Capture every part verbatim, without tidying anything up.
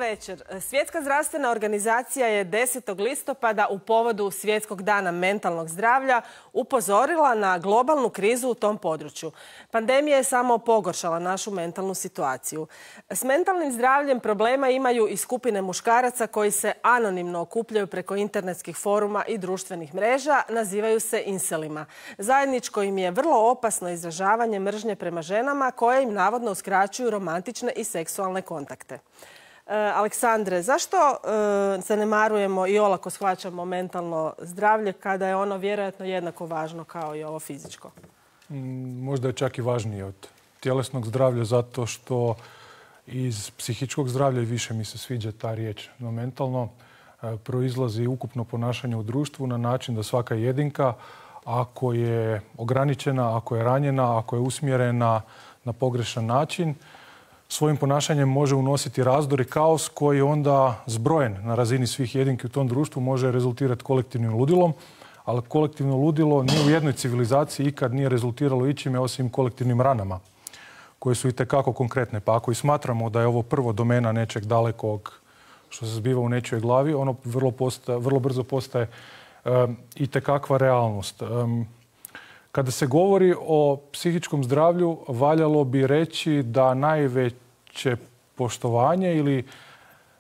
večer. Svjetska zdravstvena organizacija je desetog listopada u povodu Svjetskog dana mentalnog zdravlja upozorila na globalnu krizu u tom području. Pandemija je samo pogoršala našu mentalnu situaciju. S mentalnim zdravljem problema imaju i skupine muškaraca koji se anonimno okupljaju preko internetskih foruma i društvenih mreža, nazivaju se inselima. Zajedničko im je vrlo opasno izražavanje mržnje prema ženama koje im navodno uskraćuju romantične i seksualne kontakte. E, Aleksandre, zašto e, zanemarujemo i olako shvaćamo mentalno zdravlje kada je ono vjerojatno jednako važno kao i ovo fizičko? Možda je čak i važnije od tjelesnog zdravlja zato što iz psihičkog zdravlja, i više mi se sviđa ta riječ, no mentalno e, proizlazi ukupno ponašanje u društvu na način da svaka jedinka, ako je ograničena, ako je ranjena, ako je usmjerena na pogrešan način, svojim ponašanjem može unositi razdor i kaos koji onda zbrojen na razini svih jedinki u tom društvu može rezultirati kolektivnim ludilom, ali kolektivno ludilo ni u jednoj civilizaciji ikad nije rezultiralo ičime osim kolektivnim ranama koje su itekako konkretne. Pa ako i smatramo da je ovo prvo domena nečeg dalekog što se zbiva u nečijoj glavi, ono vrlo, postaje, vrlo brzo postaje um, itekakva realnost. Um, Kada se govori o psihičkom zdravlju, valjalo bi reći da najveće poštovanje ili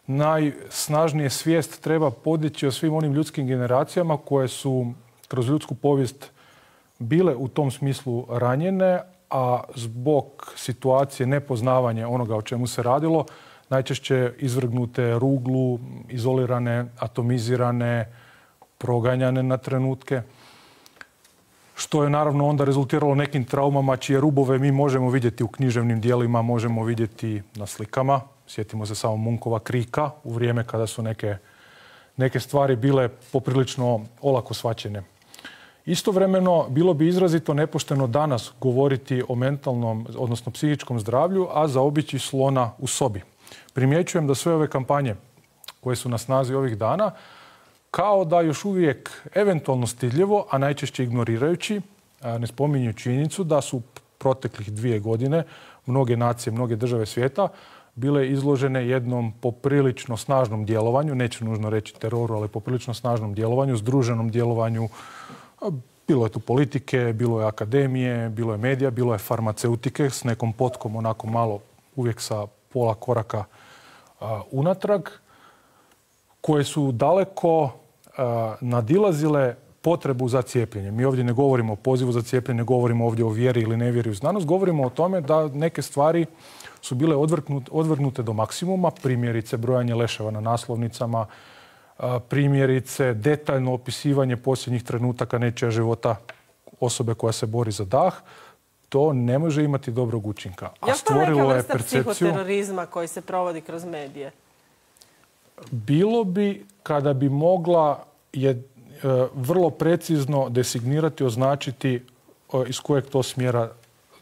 najsnažnije svijest treba podići o svim onim ljudskim generacijama koje su kroz ljudsku povijest bile u tom smislu ranjene, a zbog situacije nepoznavanja onoga o čemu se radilo, najčešće izvrgnute ruglu, izolirane, atomizirane, proganjane na trenutke, što je naravno onda rezultiralo nekim traumama čije rubove mi možemo vidjeti u književnim dijelima, možemo vidjeti na slikama. Sjetimo se samo Munkova Krika u vrijeme kada su neke, neke stvari bile poprilično olako shvaćene. Istovremeno, bilo bi izrazito nepošteno danas govoriti o mentalnom, odnosno psihičkom zdravlju, a zaobići slona u sobi. Primjećujem da sve ove kampanje koje su na snazi ovih dana kao da još uvijek eventualno stidljivo, a najčešće ignorirajući, ne spominju činjenicu da su proteklih dvije godine mnoge nacije, mnoge države svijeta bile izložene jednom poprilično snažnom djelovanju, neću nužno reći teroru, ali poprilično snažnom djelovanju, združenom djelovanju. Bilo je tu politike, bilo je akademije, bilo je medija, bilo je farmaceutike s nekom potkom onako malo uvijek sa pola koraka unatrag, koje su daleko nadilazile potrebu za cijepljenje. Mi ovdje ne govorimo o pozivu za cijepljenje, ne govorimo ovdje o vjeri ili nevjeri u znanost, govorimo o tome da neke stvari su bile odvrgnute do maksimuma, primjerice brojanje leševa na naslovnicama, primjerice detaljno opisivanje posljednjih trenutaka nečija života osobe koja se bori za dah. To ne može imati dobrog učinka. A stvorilo je percepciju psihoterorizma koji se provodi kroz medije. Bilo bi kada bi mogla je e, vrlo precizno designirati, označiti e, iz kojeg to smjera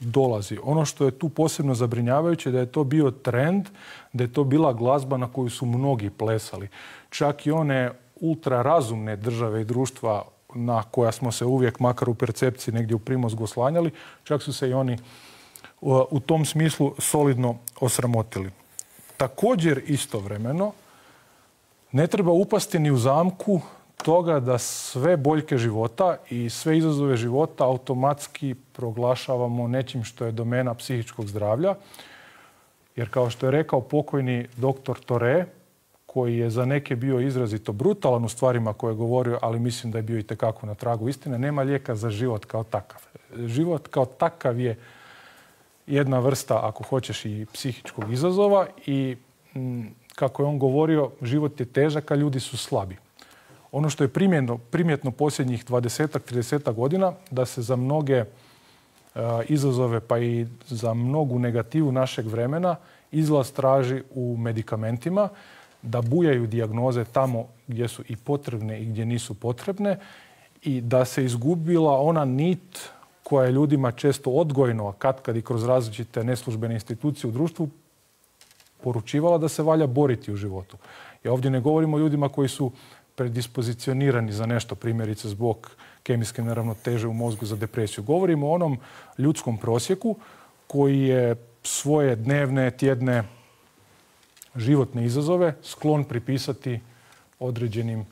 dolazi. Ono što je tu posebno zabrinjavajuće da je to bio trend, da je to bila glazba na koju su mnogi plesali. Čak i one ultrarazumne države i društva na koja smo se uvijek, makar u percepciji, negdje u primozgu oslanjali, čak su se i oni u, u tom smislu solidno osramotili. Također istovremeno ne treba upasti ni u zamku toga da sve boljke života i sve izazove života automatski proglašavamo nečim što je domena psihičkog zdravlja. Jer kao što je rekao pokojni doktor Tore, koji je za neke bio izrazito brutalan u stvarima koje je govorio, ali mislim da je bio i tekako na tragu istine, nema lijeka za život kao takav. Život kao takav je jedna vrsta, ako hoćeš, i psihičkog izazova i mm, kako je on govorio, život je težak, a ljudi su slabi. Ono što je primjetno, primjetno posljednjih dvadesetak, tridesetak godina, da se za mnoge uh, izazove, pa i za mnogu negativu našeg vremena, izlaz traži u medikamentima, da bujaju dijagnoze tamo gdje su i potrebne i gdje nisu potrebne i da se izgubila ona nit koja je ljudima često odgojno, a katkad i kroz različite neslužbene institucije u društvu, poručivala da se valja boriti u životu. I ovdje ne govorimo o ljudima koji su predispozicionirani za nešto, primjerice zbog kemijske neravnoteže u mozgu za depresiju. Govorimo o onom ljudskom prosjeku koji je svoje dnevne, tjedne životne izazove sklon pripisati određenim,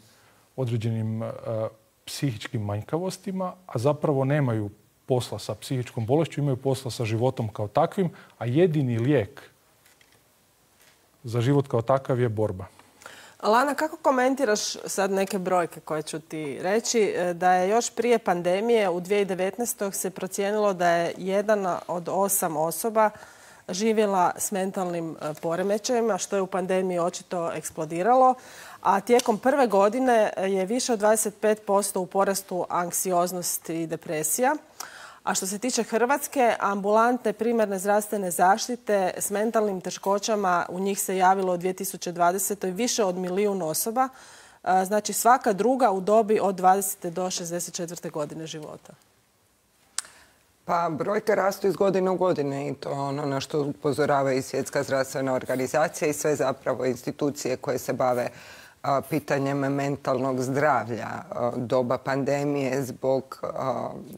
određenim uh, psihičkim manjkavostima, a zapravo nemaju posla sa psihičkom bolešću, imaju posla sa životom kao takvim, a jedini lijek za život kao takav je borba. Lana, kako komentiraš sad neke brojke koje ću ti reći? Da je još prije pandemije u dvije tisuće devetnaestoj. se procijenilo da je jedan od osam osoba živjela s mentalnim poremećajima, što je u pandemiji očito eksplodiralo. A tijekom prve godine je više od dvadeset pet posto u porastu anksioznosti i depresija. A što se tiče Hrvatske, ambulantne primarne zdravstvene zaštite s mentalnim teškoćama u njih se javilo u dvije tisuće dvadesetoj. više od milijun osoba. Znači svaka druga u dobi od dvadesete do šezdeset četvrte godine života. Pa brojke rastu iz godine u godine i to ono na što upozorava i Svjetska zdravstvena organizacija i sve zapravo institucije koje se bave pitanjem mentalnog zdravlja. Doba pandemije zbog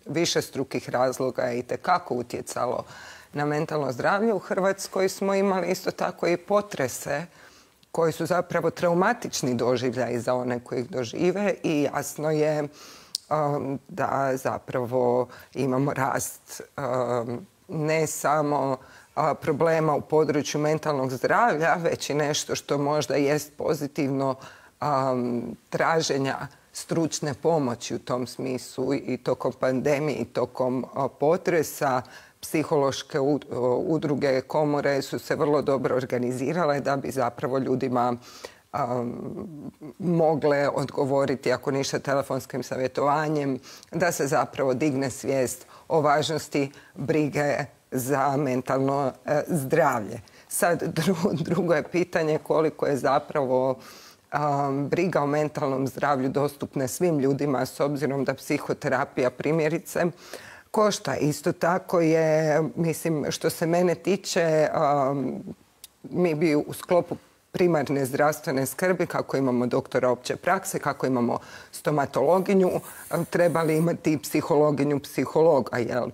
višestrukih razloga je itekako utjecalo na mentalno zdravlje. U Hrvatskoj smo imali isto tako i potrese koji su zapravo traumatični doživljaj za one koji ih dožive i jasno je da zapravo imamo rast ne samo problema u području mentalnog zdravlja, već i nešto što možda jest pozitivno traženja stručne pomoći u tom smislu i tokom pandemije i tokom potresa. Psihološke udruge, komore su se vrlo dobro organizirale da bi zapravo ljudima mogle odgovoriti, ako ništa telefonskim savjetovanjem, da se zapravo digne svijest o važnosti brige za mentalno zdravlje. Sad drugo je pitanje koliko je zapravo briga o mentalnom zdravlju dostupna svim ljudima s obzirom da psihoterapija primjerice košta. Isto tako je, mislim, što se mene tiče, mi bi u sklopu primarne zdravstvene skrbi, kako imamo doktora opće prakse, kako imamo stomatologinju, trebali imati i psihologinju psihologa, jel?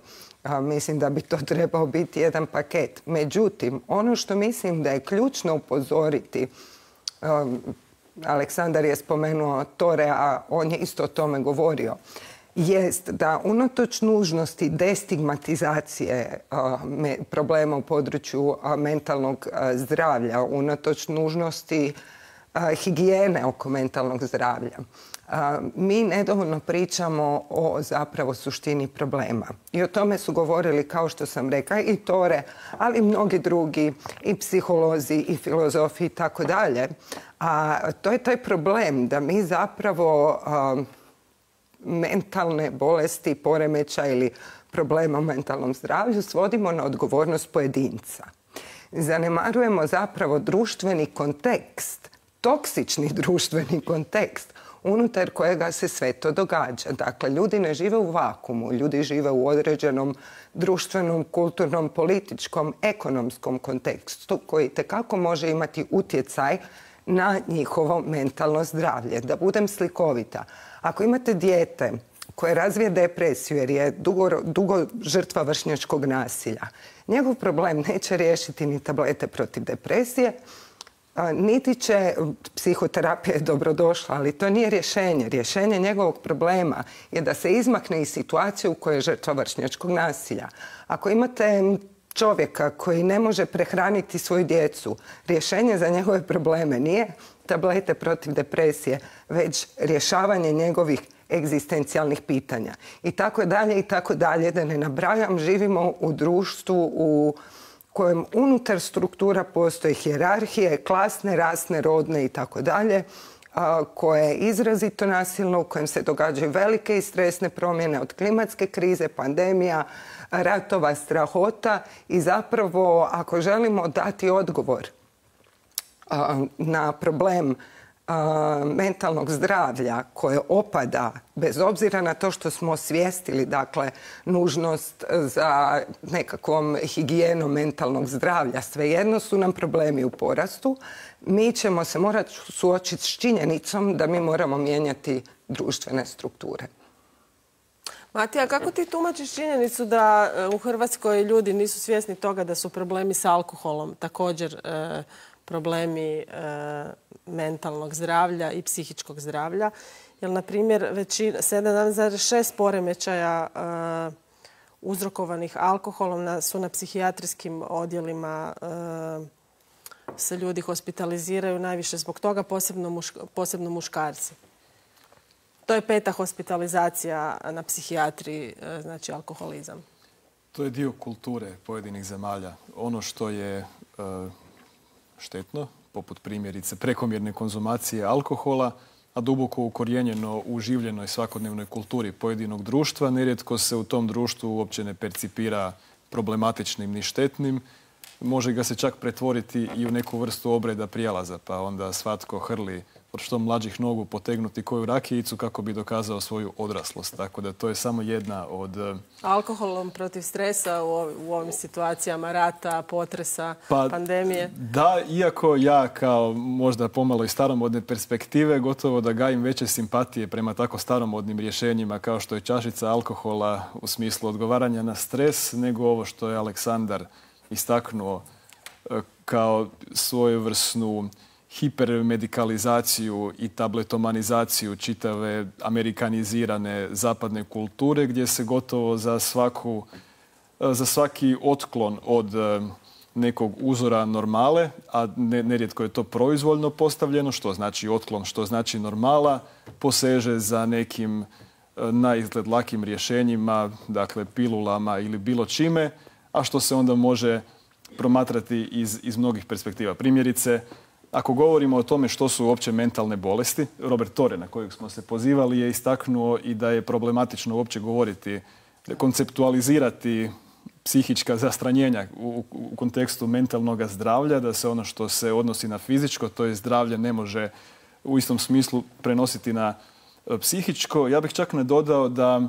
Mislim da bi to trebao biti jedan paket. Međutim, ono što mislim da je ključno upozoriti, Aleksandar je spomenuo Tore, a on je isto o tome govorio, jest da unatoč nužnosti destigmatizacije problema u području mentalnog zdravlja, unatoč nužnosti higijene oko mentalnog zdravlja, mi nedovoljno pričamo o zapravo suštini problema. I o tome su govorili, kao što sam rekla, i Tore, ali i mnogi drugi, i psiholozi, i filozofi i tako dalje. A to je taj problem da mi zapravo mentalne bolesti, poremećaja ili problema u mentalnom zdravlju svodimo na odgovornost pojedinca. Zanemarujemo zapravo društveni kontekst, toksični društveni kontekst unutar kojega se sve to događa. Dakle, ljudi ne žive u vakumu, ljudi žive u određenom društvenom, kulturnom, političkom, ekonomskom kontekstu koji itekako može imati utjecaj na njihovo mentalno zdravlje. Da budem slikovita, ako imate dijete koje razvije depresiju jer je dugo, dugo žrtva vršnjačkog nasilja, njegov problem neće riješiti ni tablete protiv depresije, niti će, psihoterapija je dobrodošla, ali to nije rješenje. Rješenje njegovog problema je da se izmakne iz situacije u kojoj je žrtva vršnjačkog nasilja. Ako imate čovjeka koji ne može prehraniti svoju djecu, rješenje za njegove probleme nije tablete protiv depresije, već rješavanje njegovih egzistencijalnih pitanja. I tako dalje, i tako dalje, da ne nabrajam, živimo u društvu u kojem unutar struktura postoje hijerarhije, klasne, rasne, rodne i tako dalje, koje je izrazito nasilno, u kojem se događaju velike i stresne promjene od klimatske krize, pandemija, ratova, strahota i zapravo ako želimo dati odgovor na problem mentalnog zdravlja koje opada bez obzira na to što smo osvijestili, dakle, nužnost za nekakvom higijenom mentalnog zdravlja, svejedno su nam problemi u porastu, mi ćemo se morati suočiti s činjenicom da mi moramo mijenjati društvene strukture. Matija, kako ti tumačiš činjenicu da u Hrvatskoj ljudi nisu svjesni toga da su problemi s alkoholom također problemi mentalnog zdravlja i psihičkog zdravlja. Jer, na primjer, sedam zarez šest poremećaja uzrokovanih alkoholom su na psihijatrijskim odjelima, se ljudi hospitaliziraju najviše zbog toga, posebno muškarci. To je peta hospitalizacija na psihijatriji, znači alkoholizam. To je dio kulture pojedinih zemalja. Ono što je štetno, poput primjerice prekomjerne konzumacije alkohola, a duboko ukorijenjeno u življenoj svakodnevnoj kulturi pojedinog društva, nerijetko se u tom društvu uopće ne percipira problematičnim ni štetnim. Može ga se čak pretvoriti i u neku vrstu obreda prijelaza, pa onda svatko hrli od što mlađih nogu potegnuti koju rakijicu kako bi dokazao svoju odraslost. Tako da to je samo jedna od... Alkoholom protiv stresa u ovim situacijama rata, potresa, pa, pandemije? Da, iako ja kao možda pomalo i staromodne perspektive gotovo da gajim veće simpatije prema tako staromodnim rješenjima kao što je čašica alkohola u smislu odgovaranja na stres, nego ovo što je Aleksandar istaknuo kao svojevrsnu hipermedikalizaciju i tabletomanizaciju čitave amerikanizirane zapadne kulture gdje se gotovo za, svaku, za svaki otklon od nekog uzora normale, a nerijetko je to proizvoljno postavljeno, što znači otklon, što znači normala, poseže za nekim naizgled lakim rješenjima, dakle pilulama ili bilo čime, a što se onda može promatrati iz, iz mnogih perspektiva. Primjerice, ako govorimo o tome što su uopće mentalne bolesti, Robert Torre, na kojeg smo se pozivali, je istaknuo i da je problematično uopće govoriti, konceptualizirati psihička zastranjenja u, u kontekstu mentalnog zdravlja, da se ono što se odnosi na fizičko, to je zdravlje, ne može u istom smislu prenositi na psihičko. Ja bih čak nadodao da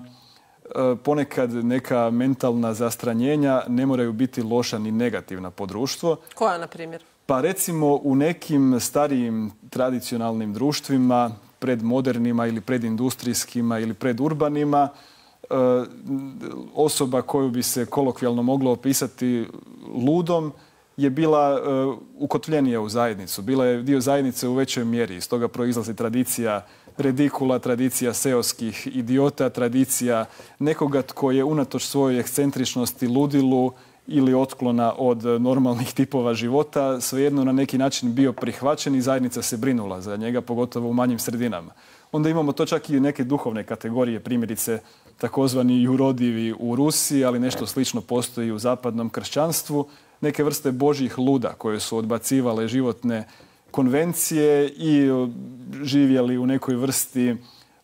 ponekad neka mentalna zastranjenja ne moraju biti loša ni negativna po društvo. Koja, na primjer? Pa recimo u nekim starijim tradicionalnim društvima, predmodernima ili predindustrijskima ili predurbanima, osoba koju bi se kolokvijalno moglo opisati ludom je bila ukotvljenija u zajednicu. Bila je dio zajednice u većoj mjeri. Iz toga proizlazi tradicija redikula, tradicija seoskih idiota, tradicija nekoga tko je unatoč svojoj ekscentričnosti, ludilu ili otklona od normalnih tipova života, svejedno na neki način bio prihvaćen i zajednica se brinula za njega, pogotovo u manjim sredinama. Onda imamo to čak i neke duhovne kategorije, primjerice takozvani jurodivi u Rusiji, ali nešto slično postoji u zapadnom kršćanstvu, neke vrste božjih luda koje su odbacivale životne konvencije i živjeli u nekoj vrsti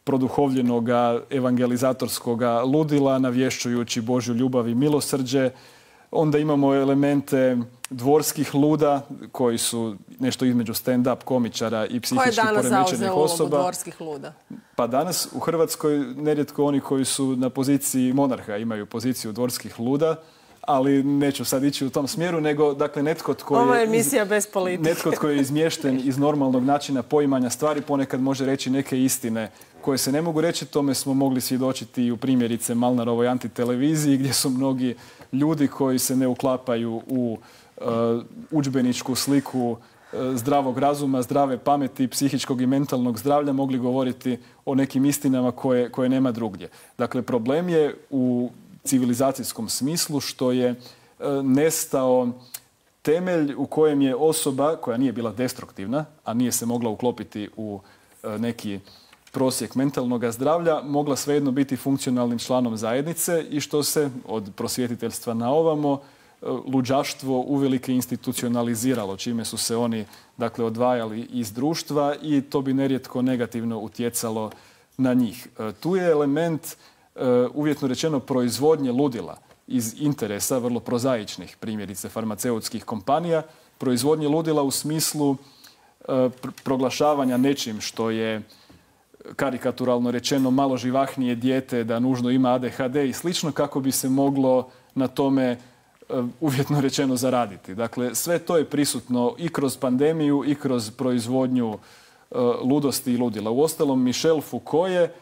produhovljenog evangelizatorskog ludila, navješćujući Božju ljubav i milosrđe. Onda imamo elemente dvorskih luda koji su nešto između stand-up komičara i psihički poremećenih osoba. Ko je danas zauzeo ulogu dvorskih luda? Pa danas u Hrvatskoj nerijetko oni koji su na poziciji monarha imaju poziciju dvorskih luda, ali neću sad ići u tom smjeru, nego dakle netko tko je... Ovo je emisija bez politike. Netko tko je izmješten iz normalnog načina poimanja stvari ponekad može reći neke istine koje se ne mogu reći. Tome smo mogli svjedočiti i u primjerice Malnarovoj antiteleviziji gdje su mnogi ljudi koji se ne uklapaju u uh, udžbeničku sliku uh, zdravog razuma, zdrave pameti, psihičkog i mentalnog zdravlja mogli govoriti o nekim istinama koje, koje nema drugdje. Dakle, problem je u civilizacijskom smislu što je uh, nestao temelj u kojem je osoba koja nije bila destruktivna, a nije se mogla uklopiti u uh, neki prosjek mentalnog zdravlja, mogla svejedno biti funkcionalnim članom zajednice i što se od prosvjetiteljstva na ovamo luđaštvo uvelike institucionaliziralo, čime su se oni dakle odvajali iz društva i to bi nerijetko negativno utjecalo na njih. Tu je element, uvjetno rečeno, proizvodnje ludila iz interesa vrlo prozaičnih, primjerice farmaceutskih kompanija, proizvodnje ludila u smislu proglašavanja nečim što je karikaturalno rečeno malo živahnije dijete, da nužno ima A D H D i slično, kako bi se moglo na tome uvjetno rečeno zaraditi. Dakle, sve to je prisutno i kroz pandemiju i kroz proizvodnju ludosti i ludila. Uostalom, Michel Foucault je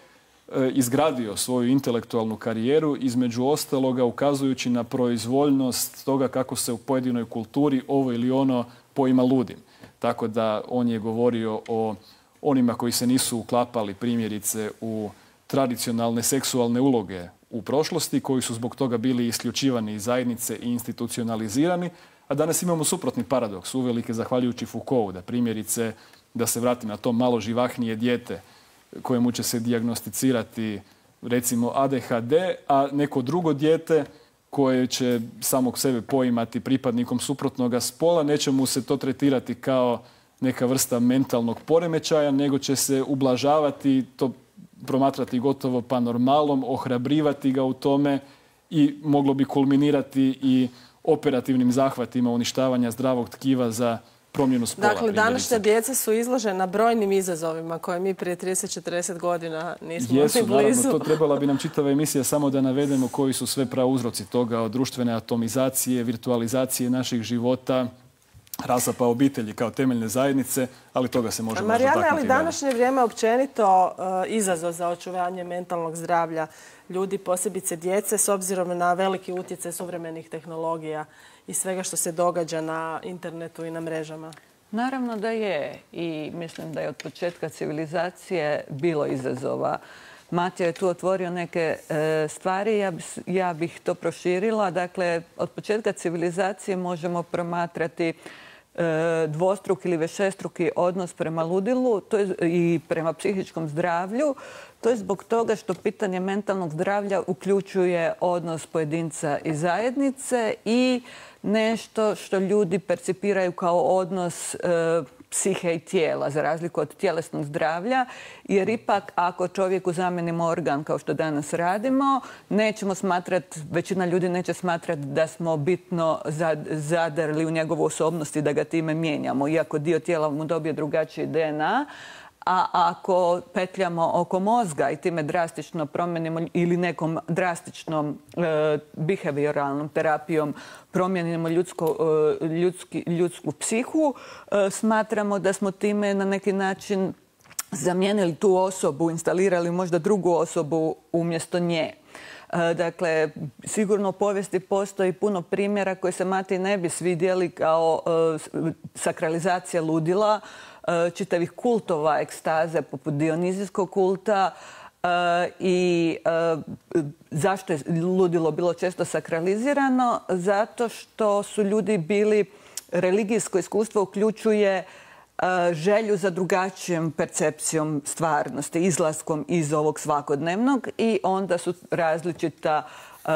izgradio svoju intelektualnu karijeru, između ostaloga ukazujući na proizvoljnost toga kako se u pojedinoj kulturi ovo ili ono poima ludim. Tako da on je govorio o onima koji se nisu uklapali primjerice u tradicionalne seksualne uloge u prošlosti, koji su zbog toga bili isključivani iz zajednice i institucionalizirani, a danas imamo suprotni paradoks, uvelike zahvaljujući Foucaultu, da primjerice, da se vratim na to malo živahnije dijete kojemu će se dijagnosticirati recimo A D H D, a neko drugo dijete koje će samog sebe poimati pripadnikom suprotnoga spola, neće mu se to tretirati kao neka vrsta mentalnog poremećaja, nego će se ublažavati, to promatrati gotovo pa normalom, ohrabrivati ga u tome i moglo bi kulminirati i operativnim zahvatima uništavanja zdravog tkiva za promjenu spola. Dakle, današnja djeca su izložena brojnim izazovima koje mi prije trideset do četrdeset godina nismo Jesu, ni blizu. naravno, to trebala bi nam čitava emisija samo da navedemo koji su sve prauzroci toga, od društvene atomizacije, virtualizacije naših života, rasapa obitelji kao temeljne zajednice, ali toga se može možda Marijana, taknuti ali današnje vrijeme općenito uh, izazov za očuvanje mentalnog zdravlja ljudi, posebice djece, s obzirom na veliki utjecaj suvremenih tehnologija i svega što se događa na internetu i na mrežama? Naravno da je, i mislim da je od početka civilizacije bilo izazova. Matija je tu otvorio neke e, stvari, ja, bi, ja bih to proširila. Dakle, od početka civilizacije možemo promatrati e, dvostruki ili višestruki odnos prema ludilu to je, i prema psihičkom zdravlju. To je zbog toga što pitanje mentalnog zdravlja uključuje odnos pojedinca i zajednice i nešto što ljudi percipiraju kao odnos e, psihe i tijela, za razliku od tjelesnog zdravlja, jer ipak ako čovjeku zamenimo organ, kao što danas radimo, nećemo smatrati, većina ljudi neće smatrati da smo bitno zadrli u njegovu osobnost i da ga time mijenjamo, iako dio tijela mu dobije drugačiji D N A. A ako petljamo oko mozga i time drastično promijenimo ili nekom drastičnom e, behavioralnom terapijom promijenimo ljudsko, e, ljudski, ljudsku psihu, e, smatramo da smo time na neki način zamijenili tu osobu, instalirali možda drugu osobu umjesto nje. Dakle, sigurno u povijesti postoji puno primjera koje se Matiji ne bi svidjeli kao e, sakralizacija ludila, e, čitavih kultova ekstaze poput Dionizijskog kulta e, i e, zašto je ludilo bilo često sakralizirano? Zato što su ljudi bili, religijsko iskustvo uključuje želju za drugačijom percepcijom stvarnosti, izlaskom iz ovog svakodnevnog i onda su različita e,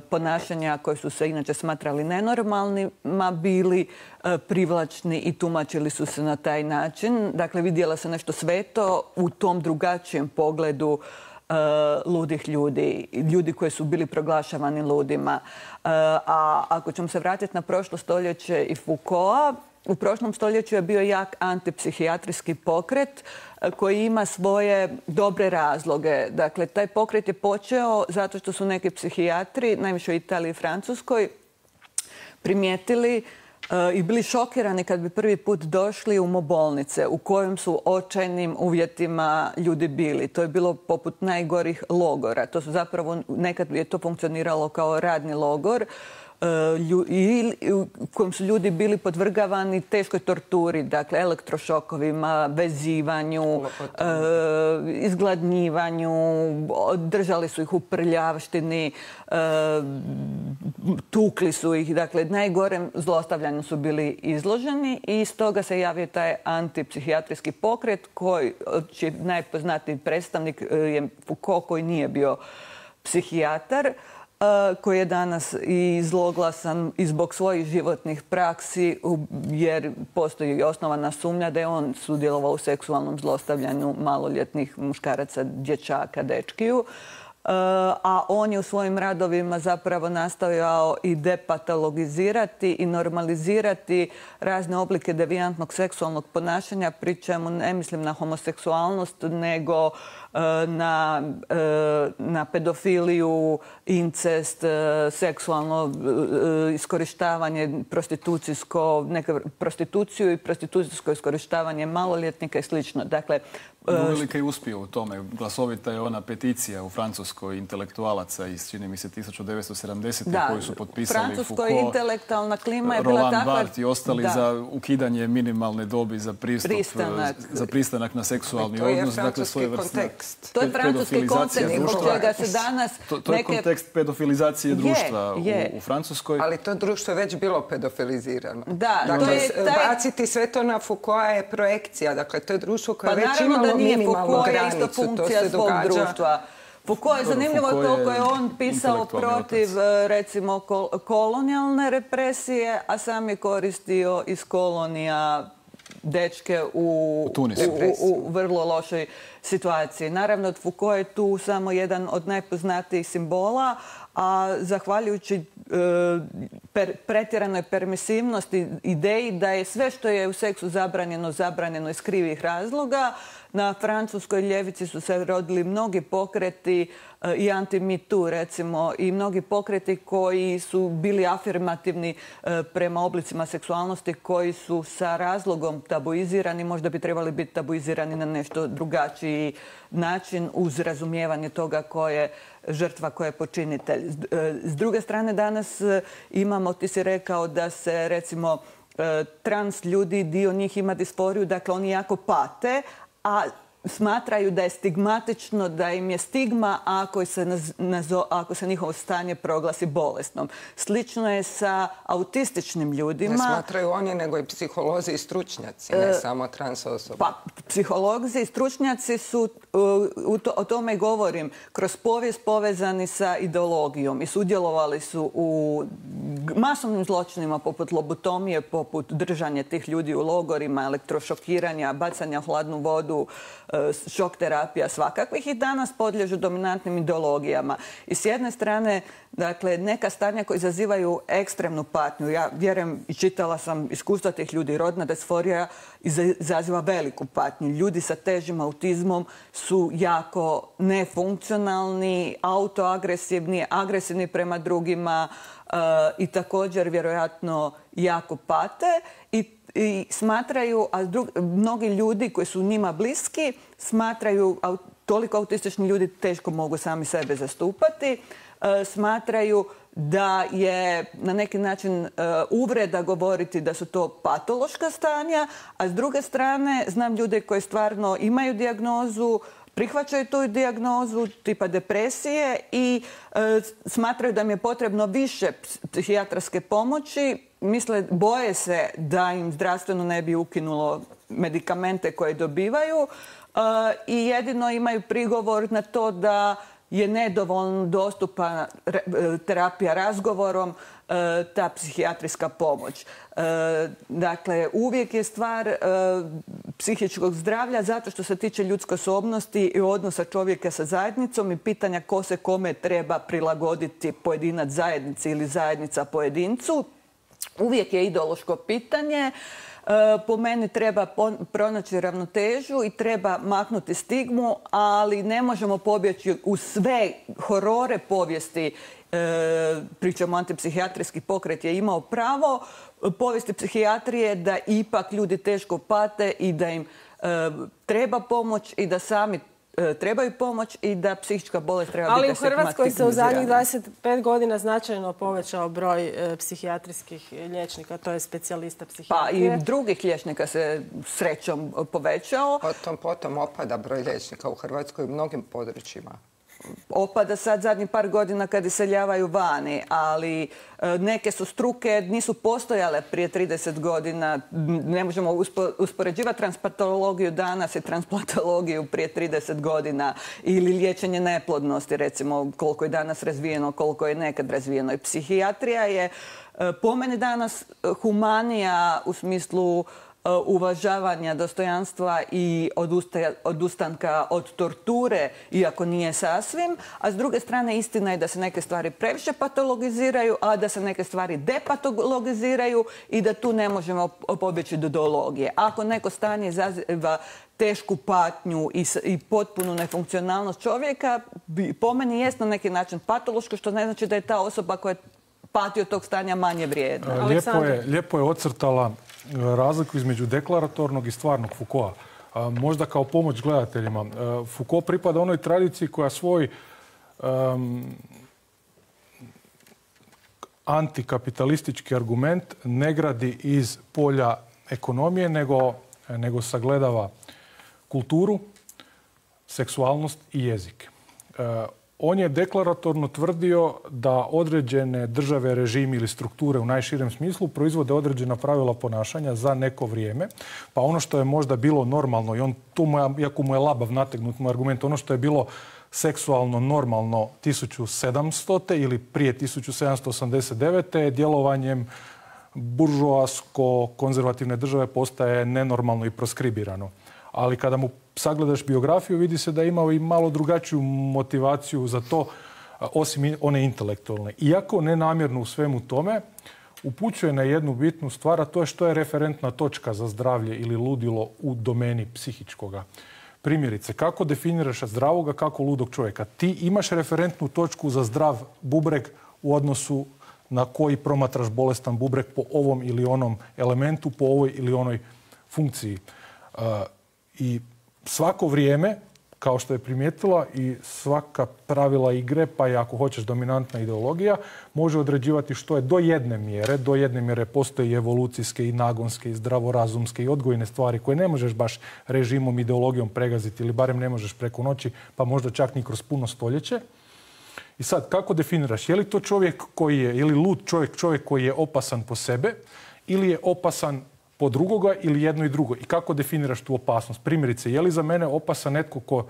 ponašanja koje su se inače smatrali nenormalnima bili e, privlačni i tumačili su se na taj način. Dakle, vidjela se nešto sveto u tom drugačijem pogledu e, ludih ljudi, ljudi koji su bili proglašavani ludima. E, a ako ćemo se vratiti na prošlo stoljeće i Foucaulta, u prošlom stoljeću je bio jak antipsihijatrijski pokret koji ima svoje dobre razloge. Dakle, taj pokret je počeo zato što su neki psihijatri, najviše u Italiji i Francuskoj, primijetili uh, i bili šokirani kad bi prvi put došli u mobolnice u kojim su očajnim uvjetima ljudi bili. To je bilo poput najgorih logora. To su zapravo, nekad je to funkcioniralo kao radni logor, u kojem su ljudi bili podvrgavani teškoj torturi, dakle elektrošokovima, vezivanju, izgladnjivanju, držali su ih u prljavštini, tukli su ih, dakle najgorem zlostavljanju su bili izloženi i iz toga se javio taj antipsihijatrijski pokret koji, čiji najpoznatiji predstavnik je Foucault, koji nije bio psihijatar, koji je danas i zloglasan i zbog svojih životnih praksi, jer postoji i osnovana sumnja da je on sudjelovao u seksualnom zlostavljanju maloljetnih muškaraca, dječaka, dečkiju. A on je u svojim radovima zapravo nastojao i depatologizirati i normalizirati razne oblike devijantnog seksualnog ponašanja, pri čemu ne mislim na homoseksualnost, nego na, na pedofiliju, incest, seksualno iskorištavanje, prostitucijsko, neka prostituciju i prostitucijsko iskorištavanje maloljetnika i slično. Dakle, Uvelike i uspio u tome. Glasovita je ona peticija u Francuskoj intelektualaca iz, čini mi se, tisuće devetsto sedamdesete koji su potpisali Foucault, Francuskoj intelektualna klima je bila Roland takva... Barthes i ostali da. za ukidanje minimalne dobi za pristup, Pristanak. za pristanak na seksualni to je odnos. Francuski Dakle, kontekst. To je francuski kontekst zbog čega se danas... To, to je neke... kontekst pedofilizacije društva je, je. U, u Francuskoj. Ali to društvo je već bilo pedofilizirano. Da, dakle, to je taj... baciti sve to na Foucaulta je projekcija. Dakle, to je društvo koje pa je već imalo minimalnu granicu. To funkcija svog događa... društva. Foucault je zanimljivo Foucault koliko je on pisao protiv, otac. recimo, kol kolonijalne represije, a sam je koristio iz kolonija dečke u, u, u, u vrlo lošoj situaciji. Naravno, Foucault je tu samo jedan od najpoznatijih simbola, a zahvaljujući e, per, pretjeranoj permisivnosti ideji da je sve što je u seksu zabranjeno, zabranjeno iz krivih razloga. Na francuskoj ljevici su se rodili mnogi pokreti e, i anti-Me Too, recimo, i mnogi pokreti koji su bili afirmativni e, prema oblicima seksualnosti koji su sa razlogom tabuizirani, možda bi trebali biti tabuizirani na nešto drugačiji način uz razumijevanje toga ko je žrtva, ko je počinitelj. S druge strane, danas imamo, ti si rekao da se, recimo, trans ljudi, dio njih ima disforiju, dakle oni jako pate, a smatraju da je stigmatično, da im je stigma ako se, nazo, ako se njihovo stanje proglasi bolesnom. Slično je sa autističnim ljudima. Ne smatraju oni, nego i psiholozi i stručnjaci, ne e, samo trans osobe. Pa, psiholozi i stručnjaci su, u to, o tome govorim, kroz povijest povezani sa ideologijom i sudjelovali su u masovnim zločinima poput lobotomije, poput držanja tih ljudi u logorima, elektrošokiranja, bacanja u hladnu vodu, šok terapija svakakvih i danas podliježu dominantnim ideologijama. I s jedne strane, dakle, neka stanja koja izazivaju ekstremnu patnju. Ja vjerujem i čitala sam iskustva tih ljudi. Rodna disforija izaziva veliku patnju. Ljudi sa težim autizmom su jako nefunkcionalni, autoagresivni, agresivni prema drugima uh, i također vjerojatno jako pate i I smatraju, a drug, mnogi ljudi koji su njima bliski smatraju, a toliko autistični ljudi teško mogu sami sebe zastupati, e, smatraju da je na neki način e, uvreda govoriti da su to patološka stanja, a s druge strane znam ljude koji stvarno imaju dijagnozu, prihvaćaju tu dijagnozu tipa depresije i e, smatraju da im je potrebno više psihijatarske pomoći. Misle, boje se da im zdravstveno ne bi ukinulo medikamente koje dobivaju uh, i jedino imaju prigovor na to da je nedovoljno dostupna terapija razgovorom, uh, ta psihijatrijska pomoć. Uh, dakle, uvijek je stvar uh, psihičkog zdravlja zato što se tiče ljudske osobnosti i odnosa čovjeka sa zajednicom i pitanja ko se kome treba prilagoditi, pojedinac zajednici ili zajednica pojedincu. Uvijek je ideološko pitanje. Po meni treba pronaći ravnotežu i treba maknuti stigmu, ali ne možemo pobjeći u sve horore povijesti. Pričamo, antipsihijatrijski pokret je imao pravo povijesti psihijatrije da ipak ljudi teško pate i da im treba pomoć i da sami trebaju pomoć i da psihička bolest treba ali biti ali u Hrvatskoj se u zadnjih dvadeset pet godina značajno povećao broj e, psihijatrijskih liječnika, to je specijalista psihijatrije. Pa i drugih liječnika se srećom povećao. Potom, potom opada broj liječnika u Hrvatskoj u mnogim područjima. Opada sad zadnjih par godina kad iseljavaju vani, ali neke su struke nisu postojale prije trideset godina. Ne možemo uspo, uspoređivati transplantologiju danas i transplantologiju prije trideset godina ili liječenje neplodnosti, recimo koliko je danas razvijeno, koliko je nekad razvijeno. I psihijatrija je po meni danas humanija u smislu uvažavanja dostojanstva i odustanka od torture, iako nije sasvim. A s druge strane, istina je da se neke stvari previše patologiziraju, a da se neke stvari depatologiziraju i da tu ne možemo pobjeći do ideologije. Ako neko stanje izaziva tešku patnju i, i potpunu nefunkcionalnost čovjeka, po meni jest na neki način patološko, što ne znači da je ta osoba koja pati od tog stanja manje vrijedna. Lijepo je, lijepo je ocrtala razliku između deklaratornog i stvarnog Foucaulta. Možda kao pomoć gledateljima. Foucault pripada onoj tradiciji koja svoj um, antikapitalistički argument ne gradi iz polja ekonomije, nego, nego sagledava kulturu, seksualnost i jezik. Uh, on je deklaratorno tvrdio da određene države, režimi ili strukture u najširem smislu proizvode određena pravila ponašanja za neko vrijeme. Pa ono što je možda bilo normalno, i on tu, iako mu je labav nategnut mu argument, ono što je bilo seksualno normalno tisuću sedamstote ili prije tisuću sedamsto osamdeset devete djelovanjem buržoasko-konzervativne države postaje nenormalno i proskribirano. Ali kada mu sagledaš biografiju, vidi se da je imao i malo drugačiju motivaciju za to, osim one intelektualne. Iako nenamjerno u svemu tome, upućuje na jednu bitnu stvar, a to je što je referentna točka za zdravlje ili ludilo u domeni psihičkoga. Primjerice, kako definiraš zdravog, a kako ludog čovjeka? Ti imaš referentnu točku za zdrav bubreg u odnosu na koji promatraš bolestan bubreg po ovom ili onom elementu, po ovoj ili onoj funkciji. Uh, I svako vrijeme, kao što je primijetila, i svaka pravila igre, pa i ako hoćeš dominantna ideologija, može određivati što je do jedne mjere. Do jedne mjere postoje i evolucijske, i nagonske, i zdravorazumske, i odgojne stvari koje ne možeš baš režimom, ideologijom pregaziti ili barem ne možeš preko noći, pa možda čak ni kroz puno stoljeće. I sad, kako definiraš? Je li to čovjek koji je, ili lud čovjek, čovjek koji je opasan po sebe ili je opasan po drugoga ili jedno i drugo? I kako definiraš tu opasnost? Primjerice, je li za mene opasan netko ko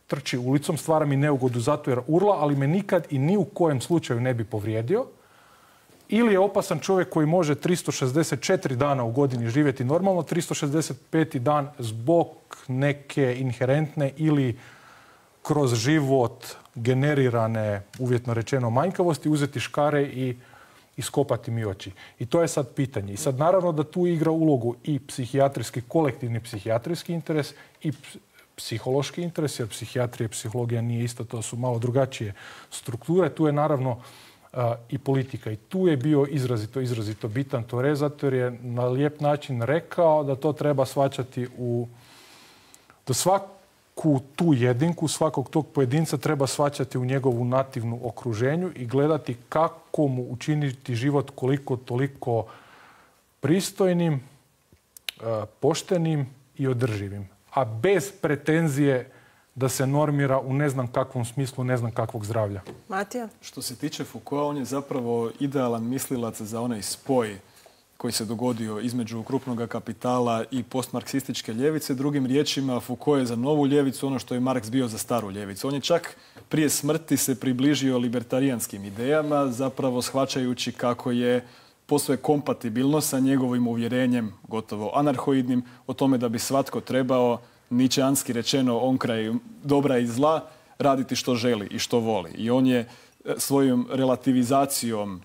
trči ulicom, stvara mi neugodu zato jer urla, ali me nikad i ni u kojem slučaju ne bi povrijedio? Ili je opasan čovjek koji može tristo šezdeset četiri dana u godini živjeti normalno, tristo šezdeset peti dan zbog neke inherentne ili kroz život generirane, uvjetno rečeno, manjkavosti, uzeti škare i iskopati mi oči. I to je sad pitanje. I sad naravno da tu igra ulogu i psihijatrijski, kolektivni psihijatrijski interes i psihološki interes, jer psihijatrija i psihologija nije isto, to su malo drugačije strukture. Tu je naravno uh, i politika. I tu je bio izrazito, izrazito bitan Tore, zato jer je na lijep način rekao da to treba shvaćati u... da svaku tu jedinku, svakog tog pojedinca treba shvaćati u njegovu nativnu okruženju i gledati kako mu učiniti život koliko toliko pristojnim, poštenim i održivim. A bez pretenzije da se normira u ne znam kakvom smislu, ne znam kakvog zdravlja. Matija? Što se tiče Foucaulta, on je zapravo idealan mislilac za onaj spoj koji se dogodio između krupnog kapitala i postmarksističke ljevice. Drugim riječima, Foucault je za novu ljevicu ono što je Marx bio za staru ljevicu. On je čak prije smrti se približio libertarijanskim idejama, zapravo shvaćajući kako je posve kompatibilno sa njegovim uvjerenjem, gotovo anarhoidnim, o tome da bi svatko trebao, ničeanski rečeno, onkraj dobra i zla, raditi što želi i što voli. I on je svojom relativizacijom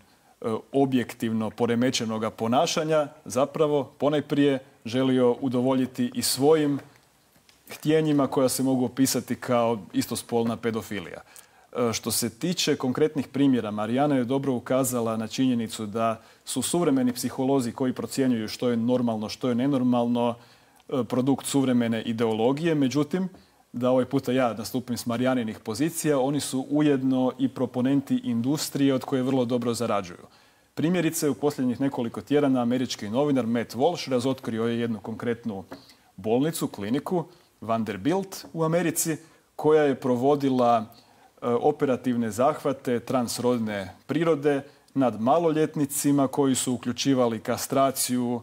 objektivno poremećenoga ponašanja zapravo ponajprije želio udovoljiti i svojim htjenjima koja se mogu opisati kao istospolna pedofilija. Što se tiče konkretnih primjera, Marijana je dobro ukazala na činjenicu da su suvremeni psiholozi koji procjenjuju što je normalno, što je nenormalno, produkt suvremene ideologije. Međutim, da ovaj puta ja nastupim s Marijaninih pozicija, oni su ujedno i proponenti industrije od koje vrlo dobro zarađuju. Primjerice, u posljednjih nekoliko tjedana američki novinar Matt Walsh razotkrio je jednu konkretnu bolnicu, kliniku Vanderbilt u Americi, koja je provodila e, operativne zahvate transrodne prirode nad maloljetnicima koji su uključivali kastraciju,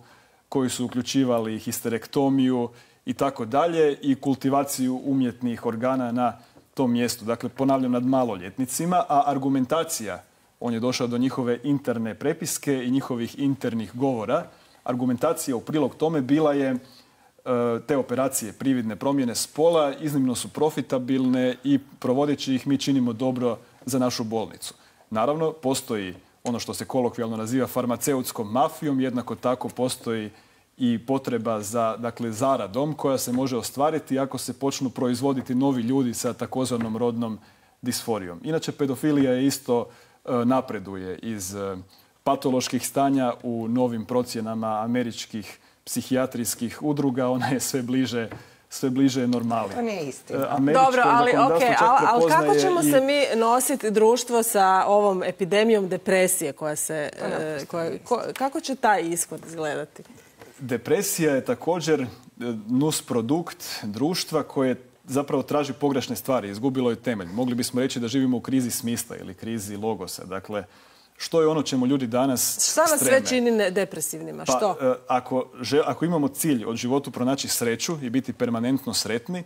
koji su uključivali histerektomiju i tako dalje i kultivaciju umjetnih organa na tom mjestu. Dakle, ponavljam, nad maloljetnicima, a argumentacija, on je došao do njihove interne prepiske i njihovih internih govora, argumentacija u prilog tome bila je te operacije prividne promjene spola iznimno su profitabilne i provodeći ih mi činimo dobro za našu bolnicu. Naravno, postoji ono što se kolokvijalno naziva farmaceutskom mafijom, jednako tako postoji i potreba za, dakle, zaradom koja se može ostvariti ako se počnu proizvoditi novi ljudi sa takozvanom rodnom disforijom. Inače, pedofilija je isto e, napreduje iz e, patoloških stanja u novim procjenama američkih psihijatrijskih udruga. Ona je sve bliže sve bliže je normali. To nije istina. Dobro, ali, okay, ali, ali kako ćemo i... se mi nositi društvo sa ovom epidemijom depresije koja se... E, koja, ko, kako će taj ishod izgledati? Depresija je također nus produkt društva koje zapravo traži pogrešne stvari, izgubilo je temelj. Mogli bismo reći da živimo u krizi smisla ili krizi logosa. Dakle, što je ono čemu ljudi danas Šta nas sve čini depresivnima? Pa, što? Ako, že, ako imamo cilj od životu pronaći sreću i biti permanentno sretni,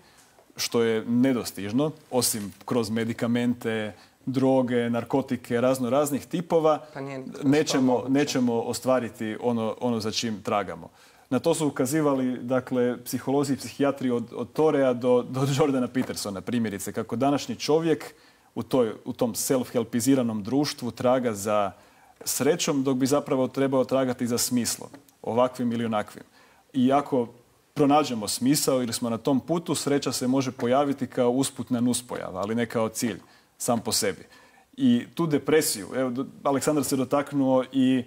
što je nedostižno, osim kroz medikamente, droge, narkotike, razno raznih tipova, pa nećemo, nećemo ostvariti ono, ono za čim tragamo. Na to su ukazivali, dakle, psiholozi i psihijatri od, od Torea do, do Jordana Petersona, primjerice, kako današnji čovjek u, toj, u tom self-helpiziranom društvu traga za srećom, dok bi zapravo trebao tragati za smislom, ovakvim ili onakvim. I ako pronađemo smisao ili smo na tom putu, sreća se može pojaviti kao usputna nuspojava, ali ne kao cilj sam po sebi. I tu depresiju, evo, Aleksandar se dotaknuo i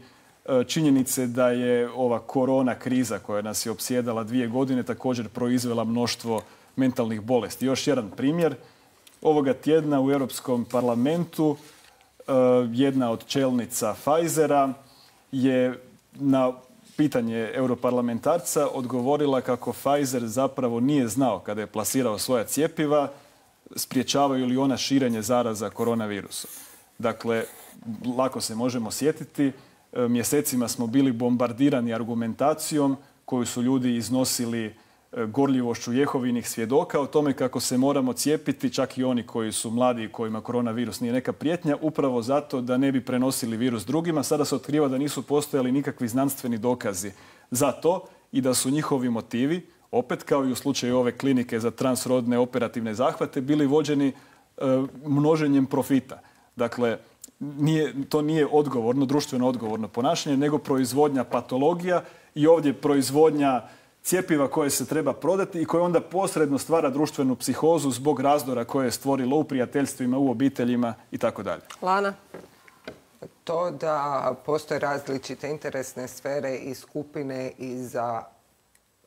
činjenice da je ova korona kriza koja nas je opsjedala dvije godine također proizvela mnoštvo mentalnih bolesti. Još jedan primjer. Ovoga tjedna u Europskom parlamentu jedna od čelnica Pfizera je na pitanje europarlamentarca odgovorila kako Pfizer zapravo nije znao kada je plasirao svoja cjepiva sprječavaju li ona širenje zaraza koronavirusom. Dakle, lako se možemo sjetiti, mjesecima smo bili bombardirani argumentacijom koju su ljudi iznosili gorljivošću Jehovinih svjedoka o tome kako se moramo cijepiti, čak i oni koji su mladi i kojima koronavirus nije neka prijetnja, upravo zato da ne bi prenosili virus drugima. Sada se otkriva da nisu postojali nikakvi znanstveni dokazi za to i da su njihovi motivi, opet kao i u slučaju ove klinike za transrodne operativne zahvate, bili vođeni e, množenjem profita. Dakle, nije, to nije odgovorno, društveno odgovorno ponašanje, nego proizvodnja patologija i ovdje proizvodnja cjepiva koje se treba prodati i koje onda posredno stvara društvenu psihozu zbog razdora koje je stvorilo u prijateljstvima, u obiteljima i tako dalje. Lana? To da postoje različite interesne sfere i skupine i za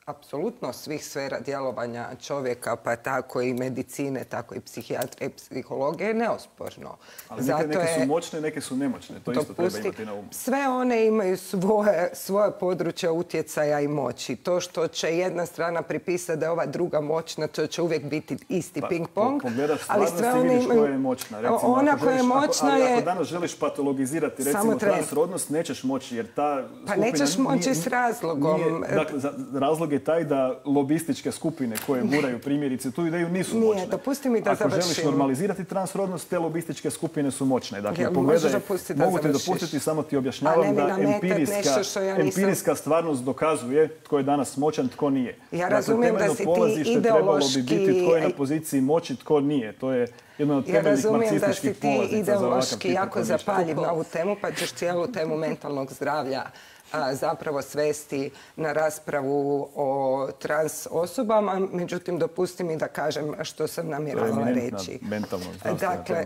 apsolutno svih sfera djelovanja čovjeka, pa tako i medicine, tako i psihijatrije i psihologije, neosporno. Ali neke, neke su moćne, neke su nemoćne. To isto treba imati na umu. Sve one imaju svoje, svoje područje utjecaja i moći. To što će jedna strana pripisati da je ova druga moćna, to će uvijek biti isti pa, ping-pong. Pogledaš stvarnost i vidiš imaju... koja je moćna. Recimo, ona koja je moćna ako, je... Ako danas želiš patologizirati, recimo, transrodnost, nećeš moći, jer ta Pa nećeš moći nije, s razlogom. Nije, dakle, za, razlog je taj da lobističke skupine koje guraju primjerice tu ideju nisu Nije, moćne. dopusti mi da Ako završim. želiš normalizirati transrodnost, te lobističke skupine su moćne. Dakle, ja, pogledaj, da mogu ti dopustiti, samo ti objašnjavam da empirijska, ja nisam... empirijska stvarnost dokazuje tko je danas moćan, tko nije. Ja dakle, razumijem da si ti ideološki... trebalo bi biti tko je na poziciji moći, tko nije. To je jedno od temeljnih marksističkih polazica. Ja razumijem da si ti ideološki jako zapaljiv na ovu temu, pa ćeš cijelu temu mentalnog zdravlja a, zapravo svesti na raspravu o trans osobama. Međutim, dopusti mi da kažem što sam namjeravala reći. Dakle,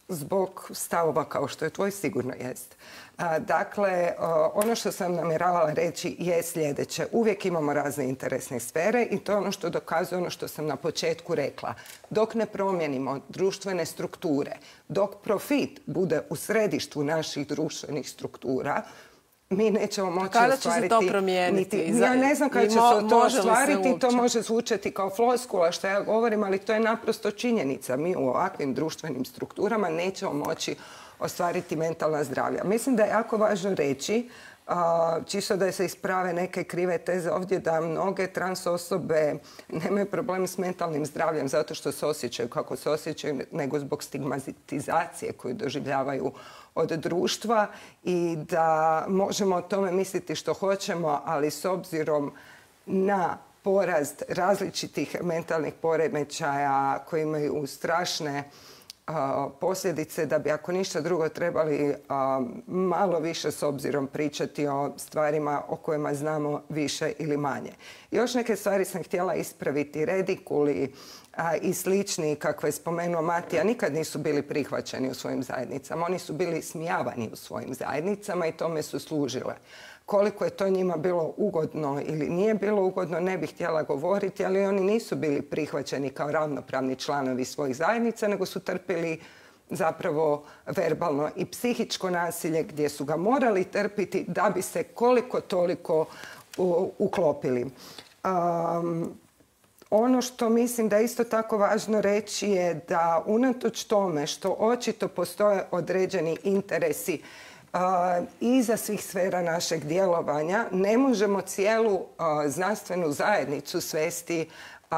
zbog stavova kao što je tvoj, sigurno jest. A, dakle, ono što sam namjeravala reći je sljedeće. Uvijek imamo razne interesne sfere i to je ono što dokazuje ono što sam na početku rekla. Dok ne promijenimo društvene strukture, dok profit bude u središtu naših društvenih struktura, mi nećemo moći kada ostvariti... Kada će se to promijeniti? Niti, ja ne znam kada će se to ostvariti. To može zvučati kao floskula što ja govorim, ali to je naprosto činjenica. Mi u ovakvim društvenim strukturama nećemo moći ostvariti mentalna zdravlja. Mislim da je jako važno reći, čisto da se isprave neke krive teze ovdje, da mnoge trans osobe nemaju problem s mentalnim zdravljem zato što se osjećaju kako se osjećaju, nego zbog stigmatizacije koju doživljavaju od društva i da možemo o tome misliti što hoćemo, ali s obzirom na porast različitih mentalnih poremećaja koji imaju strašne posljedice, da bi ako ništa drugo trebali malo više s obzirom pričati o stvarima o kojima znamo više ili manje. Još neke stvari sam htjela ispraviti. Redikuli i slični, kako je spomenuo Matija, nikad nisu bili prihvaćeni u svojim zajednicama. Oni su bili smijavani u svojim zajednicama i tome su služile. Koliko je to njima bilo ugodno ili nije bilo ugodno, ne bih htjela govoriti, ali oni nisu bili prihvaćeni kao ravnopravni članovi svojih zajednica, nego su trpili zapravo verbalno i psihičko nasilje gdje su ga morali trpiti da bi se koliko toliko uklopili. Um, ono što mislim da je isto tako važno reći je da unatoč tome što očito postoje određeni interesi Uh, iza svih sfera našeg djelovanja, ne možemo cijelu uh, znanstvenu zajednicu svesti uh,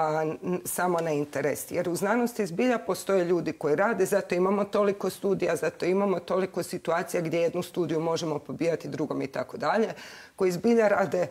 samo na interes. Jer u znanosti zbilja postoje ljudi koji rade, zato imamo toliko studija, zato imamo toliko situacija gdje jednu studiju možemo pobijati drugom i tako dalje, koji zbilja rade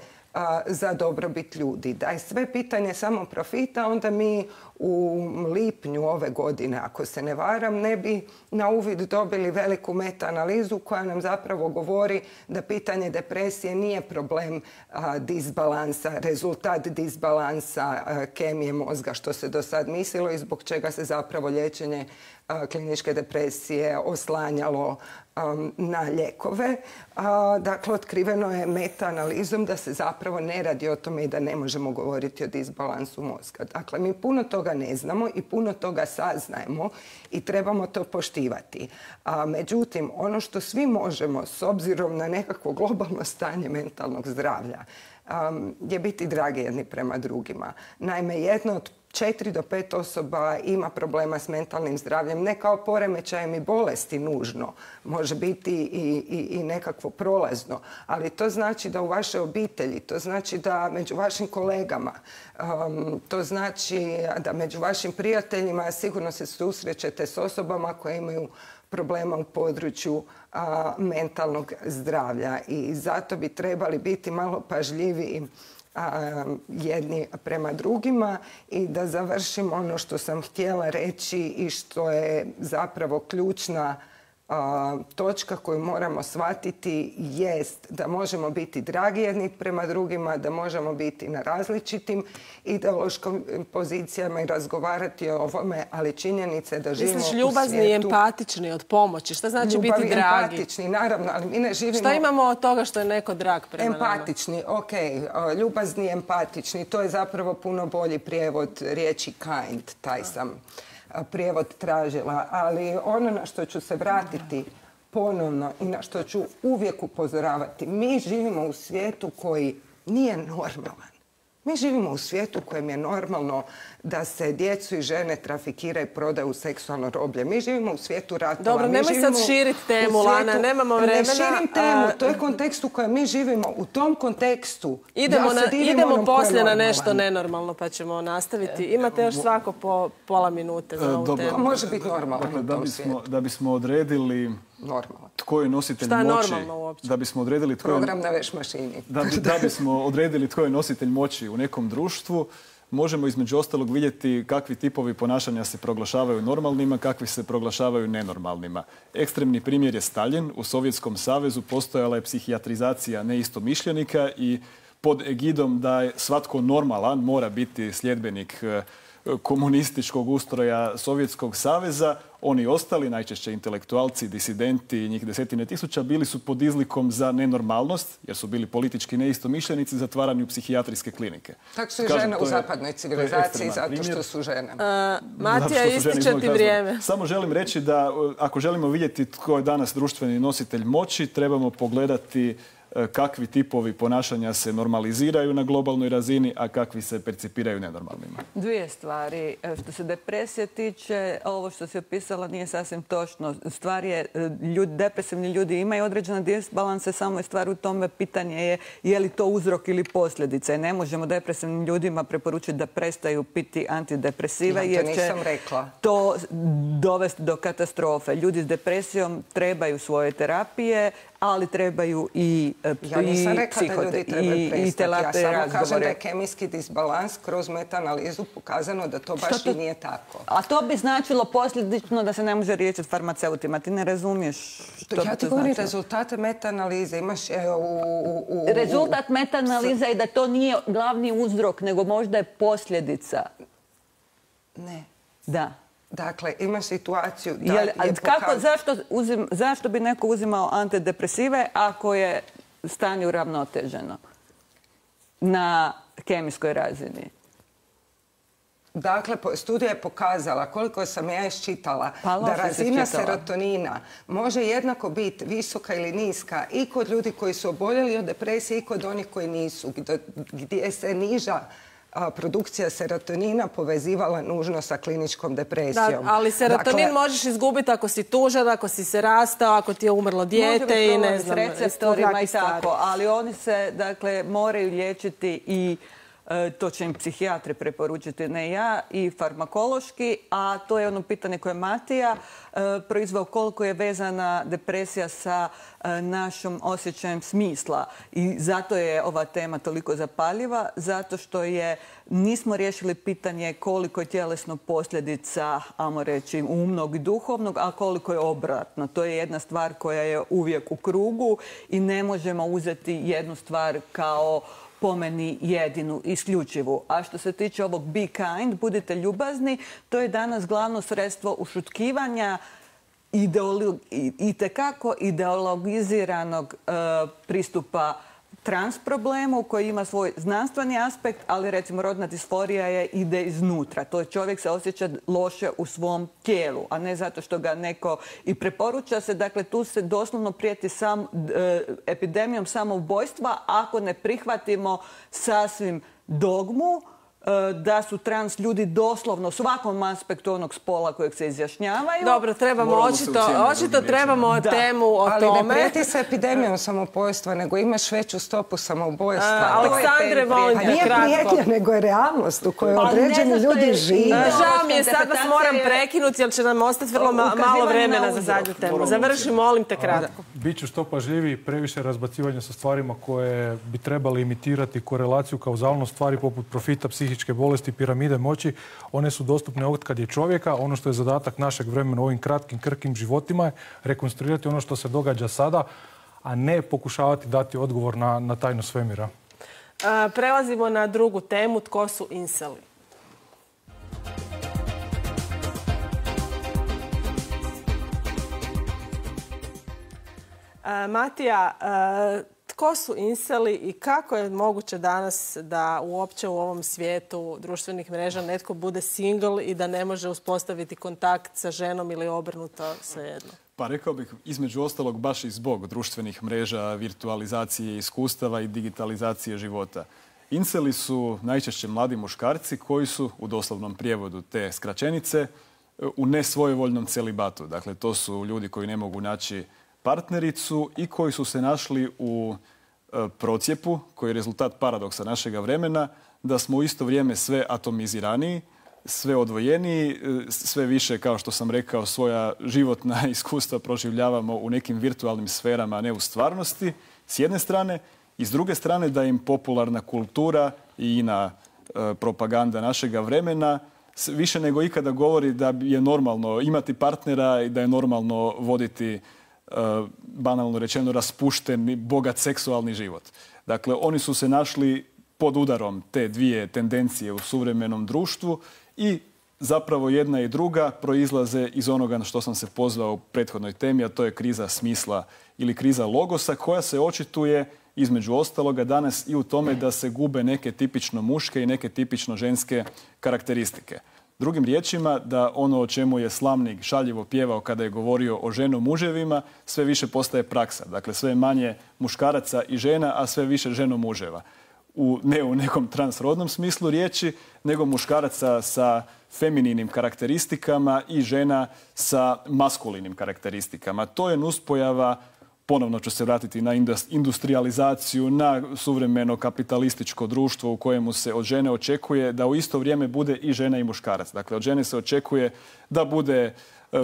za dobrobit ljudi. Da je sve pitanje samo profita, onda mi u lipnju ove godine, ako se ne varam, ne bi na uvid dobili veliku meta-analizu koja nam zapravo govori da pitanje depresije nije problem a, disbalansa, rezultat disbalansa a, kemije mozga, što se do sad mislilo i zbog čega se zapravo liječenje a, kliničke depresije oslanjalo um, na lijekove. A, dakle, otkriveno je meta-analizom da se zapravo ne radi o tome i da ne možemo govoriti o disbalansu mozga. Dakle, mi puno toga ne znamo i puno toga saznajemo i trebamo to poštivati. A, međutim, ono što svi možemo, s obzirom na nekakvo globalno stanje mentalnog zdravlja, um, je biti dragi jedni prema drugima. Naime, jedno od četiri do pet osoba ima problema s mentalnim zdravljem, ne kao poremećajem i bolesti nužno, može biti i, i, i nekakvo prolazno, ali to znači da u vašoj obitelji, to znači da među vašim kolegama, um, to znači da među vašim prijateljima sigurno se susrećete s osobama koje imaju problema u području a, mentalnog zdravlja i zato bi trebali biti malo pažljiviji A, jedni prema drugima. I da završim ono što sam htjela reći i što je zapravo ključna a, točka koju moramo shvatiti jest da možemo biti dragi jedni prema drugima, da možemo biti na različitim ideološkim pozicijama i razgovarati o ovome, ali činjenice da živimo u svijetu... Misliš ljubazni i empatični od pomoći? Šta znači biti dragi? Ljubavi, empatični, naravno, ali mi ne živimo... Šta imamo od toga što je neko drag prema nama? Empatični, ok. Ljubazni i empatični, to je zapravo puno bolji prijevod riječi kind, taj sam prijevod tražila, ali ono na što ću se vratiti ponovno i na što ću uvijek upozoravati, mi živimo u svijetu koji nije normalan. Mi živimo u svijetu u kojem je normalno da se djecu i žene trafikiraju i prodaju u seksualno roblje. Mi živimo u svijetu ratova. Dobro, nemoj sad širiti temu, Lana, nemamo vremena. Ne širim temu, to je kontekst u kojem mi živimo. U tom kontekstu idemo, ja na, idemo poslije na nešto nenormalno pa ćemo nastaviti. Imate još svako po pola minute za ovu Dobro. temu. Može biti normalno dakle, u da tom bismo, svijetu. da bismo odredili Normalno. tko je nositelj Šta je moći, normalno uopće? da bismo odredili tko je, Program na veš mašini. da, bi, da bismo odredili tko je nositelj moći u nekom društvu, možemo između ostalog vidjeti kakvi tipovi ponašanja se proglašavaju normalnima, kakvi se proglašavaju nenormalnima. Ekstremni primjer je Stalin. U Sovjetskom savezu postojala je psihijatrizacija neistomišljenika i pod egidom da je svatko normalan mora biti sljedbenik komunističkog ustroja Sovjetskog saveza, oni ostali, najčešće intelektualci, disidenti, njih desetine tisuća, bili su pod izlikom za nenormalnost, jer su bili politički neistomišljenici, zatvarani u psihijatrijske klinike. Tako su i žene u zapadnoj civilizaciji, zato što su žene. Uh, Matija, ističe ti vrijeme. Samo želim reći da ako želimo vidjeti tko je danas društveni nositelj moći, trebamo pogledati kakvi tipovi ponašanja se normaliziraju na globalnoj razini, a kakvi se percipiraju nenormalnima. Dvije stvari. Što se depresije tiče, ovo što si opisala nije sasvim točno. Stvar je, ljudi, depresivni ljudi imaju određene disbalanse, samo je stvar u tome, pitanje je je li to uzrok ili posljedica. Ne možemo depresivnim ljudima preporučiti da prestaju piti antidepresive, jer će to dovesti do katastrofe. Ljudi s depresijom trebaju svoje terapije, ali trebaju i psihote. Ja nisam rekla da ljudi trebaju prestati. Ja samo kažem da je kemijski disbalans kroz meta-analizu pokazano da to baš i nije tako. A to bi značilo posljedično da se ne može riješiti farmaceutima. Ti ne razumiješ što bi to Ja ti govorim rezultate meta-analize. Imaš u... Rezultat meta-analiza je da to nije glavni uzrok, nego možda je posljedica. Ne. Da. Dakle, ima situaciju da Jel, je kako, zašto, uzim, zašto bi neko uzimao antidepresive ako je stanje uravnoteženo na kemijskoj razini? Dakle, studija je pokazala, koliko sam ja iščitala, pa, da razina serotonina može jednako biti visoka ili niska i kod ljudi koji su oboljeli od depresije i kod onih koji nisu, gdje se niža produkcija serotonina povezivala nužno sa kliničkom depresijom. Da, ali serotonin dakle, možeš izgubiti ako si tužan, ako si se rastao, ako ti je umrlo dijete i ne znam, s receptorima i tako, ali oni se, dakle, moraju liječiti i to će im psihijatri preporučiti, ne ja, i farmakološki, a to je ono pitanje koje je Matija proizveo, koliko je vezana depresija sa našom osjećajem smisla. I zato je ova tema toliko zapaljiva, zato što je nismo riješili pitanje koliko je tjelesno posljedica, ajmo reći, umnog i duhovnog, a koliko je obratno. To je jedna stvar koja je uvijek u krugu i ne možemo uzeti jednu stvar kao po meni jedinu, isključivu. A što se tiče ovog be kind, budite ljubazni, to je danas glavno sredstvo ušutkivanja itekako ideologiziranog e, pristupa trans problemu koji ima svoj znanstveni aspekt, ali recimo rodna disforija je ide iznutra. To je čovjek se osjeća loše u svom tijelu, a ne zato što ga neko i preporuča se. Dakle, tu se doslovno prijeti sam, e, epidemijom samoubojstva ako ne prihvatimo sasvim dogmu da su trans ljudi doslovno u svakom aspektu onog spola kojeg se izjašnjavaju. Dobro, trebamo očito, očito trebamo da. temu o ali tome. Ali ne prijeti se epidemijom samoubojstva, nego imaš veću stopu samoubojstva. Uh, Aleksandre, molim te, nije kratko. Nije prijetnja, nego je realnost u kojoj određeni ljudi žive. Žao mi je, sad vas moram prekinuti, jer će nam ostati vrlo ma malo vremena za zadnju temu. Završi, molim te, kratko. Biću što pažljiviji, previše razbacivanja sa stvarima koje bi trebali imitirati korelaciju, kauzalnost stvari poput profita, psihičke bolesti, piramide moći. One su dostupne od kad je čovjeka. Ono što je zadatak našeg vremena u ovim kratkim, krkim životima je rekonstruirati ono što se događa sada, a ne pokušavati dati odgovor na, na tajnu svemira. A, prelazimo na drugu temu. Tko su inseli? A, Matija, a, tko su inseli i kako je moguće danas da uopće u ovom svijetu društvenih mreža netko bude single i da ne može uspostaviti kontakt sa ženom ili obrnuto, svejedno? Pa rekao bih, između ostalog, baš i zbog društvenih mreža, virtualizacije iskustava i digitalizacije života. Inseli su najčešće mladi muškarci koji su, u doslovnom prijevodu te skraćenice, u nesvojevoljnom celibatu. Dakle, to su ljudi koji ne mogu naći partnericu i koji su se našli u e, procjepu, koji je rezultat paradoksa našega vremena, da smo u isto vrijeme sve atomiziraniji, sve odvojeniji, sve više, kao što sam rekao, svoja životna iskustva proživljavamo u nekim virtualnim sferama, a ne u stvarnosti, s jedne strane, i s druge strane da im popularna kultura i ina e, propaganda našega vremena više nego ikada govori da je normalno imati partnera i da je normalno voditi banalno rečeno raspušten, bogat seksualni život. Dakle, oni su se našli pod udarom te dvije tendencije u suvremenom društvu i zapravo jedna i druga proizlaze iz onoga na što sam se pozvao u prethodnoj temi, a to je kriza smisla ili kriza logosa, koja se očituje između ostaloga danas i u tome da se gube neke tipično muške i neke tipično ženske karakteristike. Drugim riječima, da ono o čemu je slamnik šaljivo pjevao kada je govorio o ženo-muževima, sve više postaje praksa. Dakle, sve manje muškaraca i žena, a sve više ženo-muževa. U, ne u nekom transrodnom smislu riječi, nego muškaraca sa femininim karakteristikama i žena sa maskulinim karakteristikama. To je nuspojava, ponovno ću se vratiti na industrializaciju, na suvremeno kapitalističko društvo u kojemu se od žene očekuje da u isto vrijeme bude i žena i muškarac. Dakle, od žene se očekuje da bude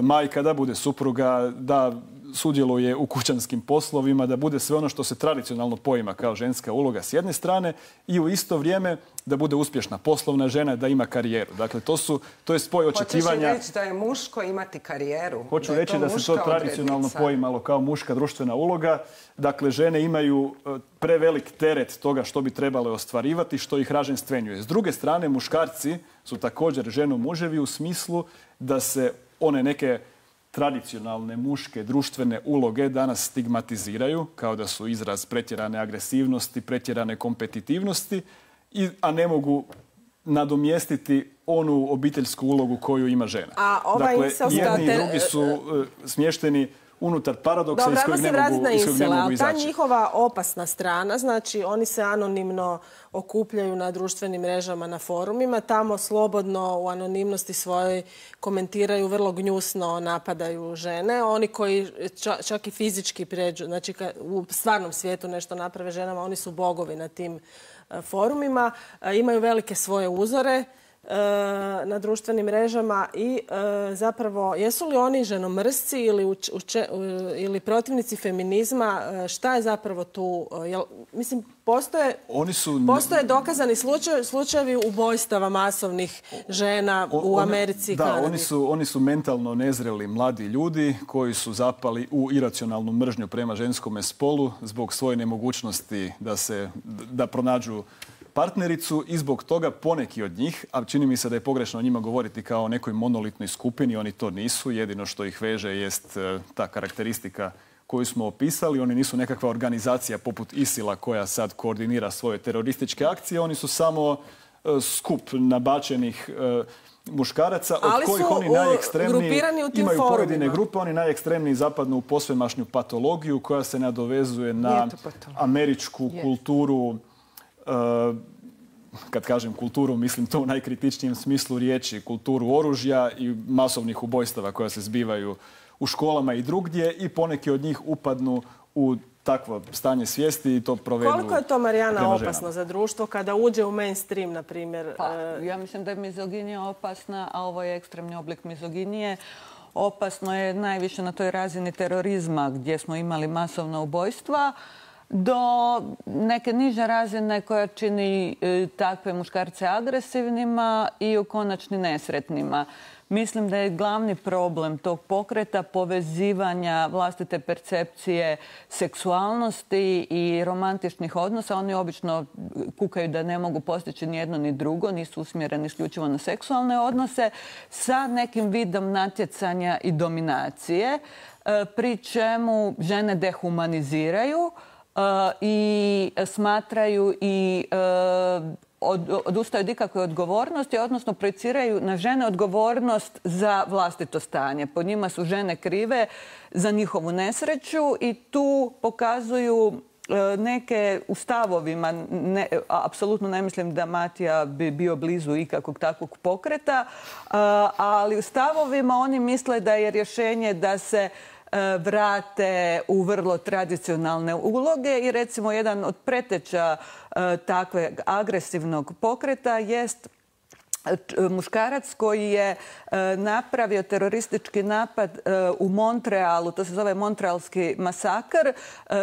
majka, da bude supruga, da sudjeluje u kućanskim poslovima, da bude sve ono što se tradicionalno poima kao ženska uloga s jedne strane i u isto vrijeme da bude uspješna poslovna žena, da ima karijeru. Dakle, to, su, to je spoj očekivanja... Hoćeš reći da je muško imati karijeru? Hoću da reći to da se to tradicionalno odrednica. poimalo kao muška društvena uloga. Dakle, žene imaju prevelik teret toga što bi trebale ostvarivati, što ih raženstvenjuje. S druge strane, muškarci su također ženo-muževi u smislu da se one neke tradicionalne muške društvene uloge danas stigmatiziraju kao da su izraz pretjerane agresivnosti, pretjerane kompetitivnosti, a ne mogu nadomjestiti onu obiteljsku ulogu koju ima žena. A ovaj dakle, inselska jedni i drugi su uh, smješteni unutar paradoksa Dobro, iz kojeg ne mogu, na iz kojeg ne insela, mogu izaći. Ta njihova opasna strana, znači oni se anonimno okupljaju na društvenim mrežama, na forumima, tamo slobodno u anonimnosti svojoj komentiraju, vrlo gnjusno napadaju žene. Oni koji ča, čak i fizički pređu, znači u stvarnom svijetu nešto naprave ženama, oni su bogovi na tim forumima, imaju velike svoje uzore na društvenim mrežama i zapravo jesu li oni ženomrsci ili, uče, ili protivnici feminizma, šta je zapravo tu? Jel, mislim, postoje, oni su... postoje dokazani slučaj, slučajevi ubojstava masovnih žena u on, Americi i da, Kanadi. Oni su, oni su mentalno nezreli mladi ljudi koji su zapali u iracionalnu mržnju prema ženskome spolu zbog svoje nemogućnosti da se da pronađu partnericu i zbog toga poneki od njih, a čini mi se da je pogrešno o njima govoriti kao o nekoj monolitnoj skupini, oni to nisu. Jedino što ih veže jest ta karakteristika koju smo opisali. Oni nisu nekakva organizacija poput ISIL-a koja sad koordinira svoje terorističke akcije. Oni su samo skup nabačenih muškaraca od ali kojih oni najekstremniji imaju forumima. Pojedine grupe, oni najekstremniji zapadnu u posvemašnju patologiju koja se nadovezuje na američku yes. kulturu. Kad kažem kulturu, mislim to u najkritičnijem smislu riječi, kulturu oružja i masovnih ubojstava koja se zbivaju u školama i drugdje i poneki od njih upadnu u takvo stanje svijesti i to provedu. Koliko je to, Marijana, opasno za društvo kada uđe u mainstream, na primjer? Pa, ja mislim da je mizoginija opasna, a ovo je ekstremni oblik mizoginije. Opasno je najviše na toj razini terorizma gdje smo imali masovna ubojstva, do neke niže razine koja čini takve muškarce agresivnima i u konačni nesretnima. Mislim da je glavni problem tog pokreta povezivanja vlastite percepcije seksualnosti i romantičnih odnosa. Oni obično kukaju da ne mogu postići ni jedno ni drugo, nisu usmjereni isključivo na seksualne odnose, sa nekim vidom natjecanja i dominacije, pri čemu žene dehumaniziraju i smatraju i od, odustaju od ikakve odgovornosti, odnosno projiciraju na žene odgovornost za vlastito stanje. Po njima su žene krive za njihovu nesreću i tu pokazuju neke u stavovima, ne, apsolutno ne mislim da Matija bi bio blizu ikakvog takvog pokreta, ali u stavovima oni misle da je rješenje da se vrate u vrlo tradicionalne uloge i recimo jedan od preteča takve agresivnog pokreta jest muškarac koji je napravio teroristički napad u Montrealu, to se zove Montrealski masakr,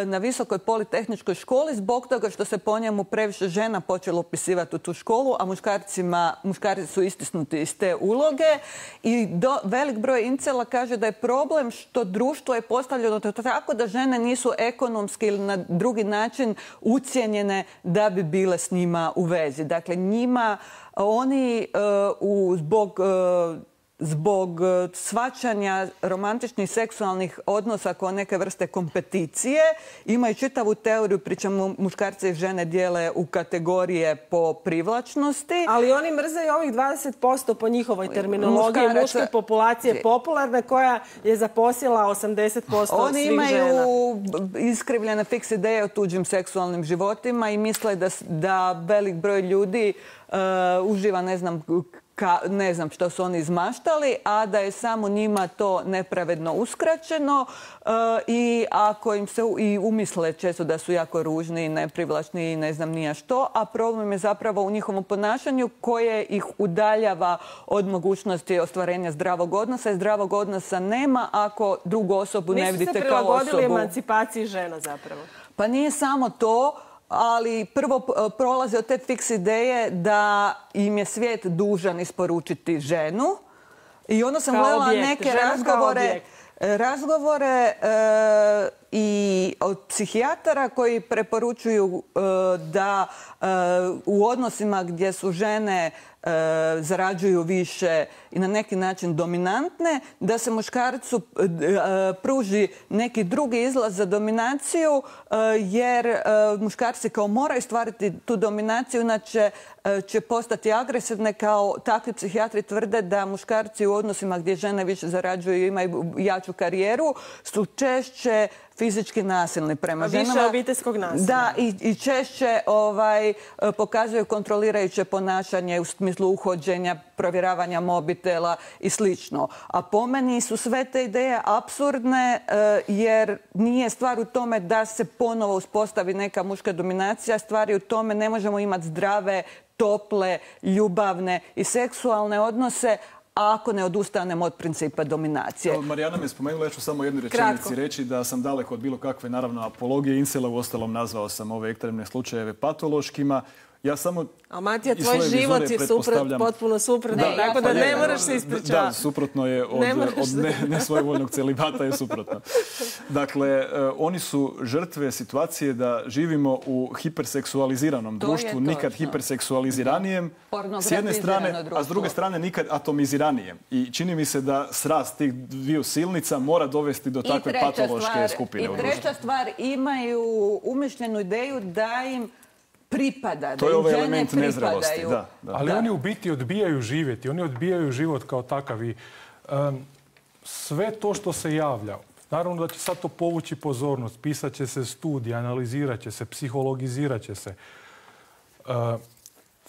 na Visokoj politehničkoj školi zbog toga što se po njemu previše žena počelo upisivati u tu školu, a muškarcima, muškarci su istisnuti iz te uloge i do, velik broj incela kaže da je problem što društvo je postavljeno tako da žene nisu ekonomski ili na drugi način ucijenjene da bi bile s njima u vezi. Dakle, njima oni uh, zbog, uh, zbog shvaćanja romantičnih seksualnih odnosa kao neke vrste kompeticije imaju čitavu teoriju, pri čemu muškarce i žene dijele u kategorije po privlačnosti. Ali oni mrze i ovih dvadeset posto po njihovoj terminologiji muške populacije popularne koja je zaposjela osamdeset posto oni svih žena. Oni imaju iskrivljene fiks ideje o tuđim seksualnim životima i misle da, da velik broj ljudi uh, uživa, ne znam, Ka, ne znam što su oni izmaštali, a da je samo njima to nepravedno uskraćeno uh, i ako im se i umisle često da su jako ružni i neprivlačni i ne znam nija što, a problem je zapravo u njihovom ponašanju koje ih udaljava od mogućnosti ostvarenja zdravog odnosa i zdravog odnosa nema ako drugu osobu ne vidite kao osobu. Nisu se prilagodili emancipaciji žena zapravo? Pa nije samo to, ali prvo prolaze od te fiks ideje da im je svijet dužan isporučiti ženu. I onda sam gledala neke razgovore, razgovore e, i od psihijatara koji preporučuju da u odnosima gdje su žene zarađuju više i na neki način dominantne, da se muškarcu pruži neki drugi izlaz za dominaciju, jer muškarci kao moraju stvariti tu dominaciju, inače će postati agresivne. Kao takvi psihijatri tvrde da muškarci u odnosima gdje žene više zarađuju i imaju jaču karijeru su češće fizički nasilni prema ženama. Više obiteljskog nasilja. Da, i, i češće ovaj, pokazuju kontrolirajuće ponašanje u smislu uhođenja, provjeravanja mobitela i slično. A po meni su sve te ideje apsurdne, jer nije stvar u tome da se ponovo uspostavi neka muška dominacija. Stvar je u tome ne možemo imati zdrave, tople, ljubavne i seksualne odnose ako ne odustanemo od principa dominacije. Marijana me spomenula, ja ću samo jednu rečenici reći da sam daleko od bilo kakve, naravno, apologije incela, u ostalom nazvao sam ove ekstremne slučajeve patološkima. Ja samo... A Matija, tvoj život je suprot, potpuno suprotno, Ne, tako da ja, ne ja, moraš se ispričavati. Da, suprotno je od, od ne, nesvojevoljnog celibata je suprotno. Dakle, eh, oni su žrtve situacije da živimo u hiperseksualiziranom To društvu, je nikad točno. hiperseksualiziranijem, s jedne strane, Pornografizirano a s druge društvo. strane nikad atomiziranijem. I čini mi se da srast tih dviju silnica mora dovesti do takve treća patološke stvar- skupine u I društvu. treća stvar, imaju umišljenu ideju da im pripada, To da je im ovaj žene element nezrelosti, pripadaju. da, da. Ali Da. oni u biti odbijaju živjeti, oni odbijaju život kao takav i em, sve to što se javlja, naravno da će sad to povući pozornost, pisat će se studije, analizirat će se, psihologizirat će se. E,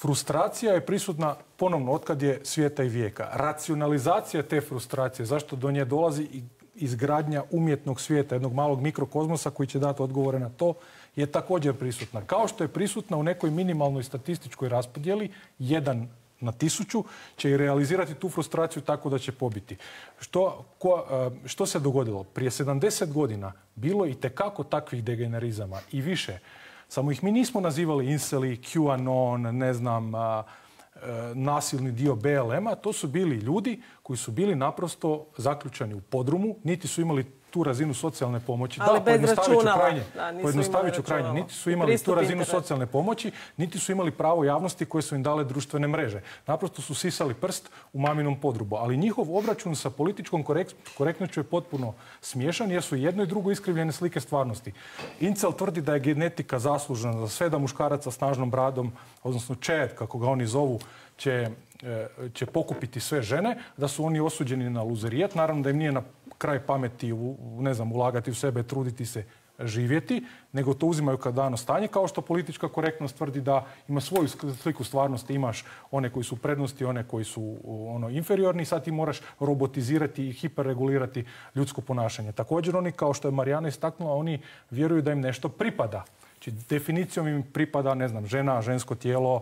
frustracija je prisutna ponovno otkad je svijeta i vijeka. Racionalizacija te frustracije, zašto do nje dolazi i izgradnja umjetnog svijeta, jednog malog mikrokozmosa koji će dati odgovore na to, je također prisutna. Kao što je prisutna u nekoj minimalnoj statističkoj raspodjeli, jedan na tisuću, će i realizirati tu frustraciju tako da će pobiti. Što, ko, što se dogodilo? Prije sedamdeset godina bilo je itekako takvih degenerizama i više. Samo ih mi nismo nazivali inceli, QAnon, ne znam, a, a, nasilni dio B L M-a. To su bili ljudi koji su bili naprosto zaključani u podrumu, niti su imali tu razinu socijalne pomoći. Ali da, bez pojednostavit ću računala. krajnje. Da, nisu Pojednostavit ću imali krajnje. računala. Niti su I imali tu pristup razinu internetu. socijalne pomoći, niti su imali pravo javnosti koje su im dale društvene mreže. Naprosto su sisali prst u maminom podrubu. Ali njihov obračun sa političkom korek- korektnošću je potpuno smiješan jer su jedno i drugo iskrivljene slike stvarnosti. Incel tvrdi da je genetika zaslužna za sve, da muškarac sa snažnom bradom, odnosno čed, kako ga oni zovu, će, e, će pokupiti sve žene, da su oni osuđeni na luzerijat. Naravno da im nije na kraj pameti u, ne znam, ulagati u sebe, truditi se, živjeti, nego to uzimaju kao dano stanje, kao što politička korektnost tvrdi da ima svoju sliku stvarnosti, imaš one koji su prednosti, one koji su ono inferiorni, sad ti moraš robotizirati i hiperregulirati ljudsko ponašanje. Također oni, kao što je Marijana istaknula, oni vjeruju da im nešto pripada. Znači, definicijom im pripada, ne znam, žena, žensko tijelo,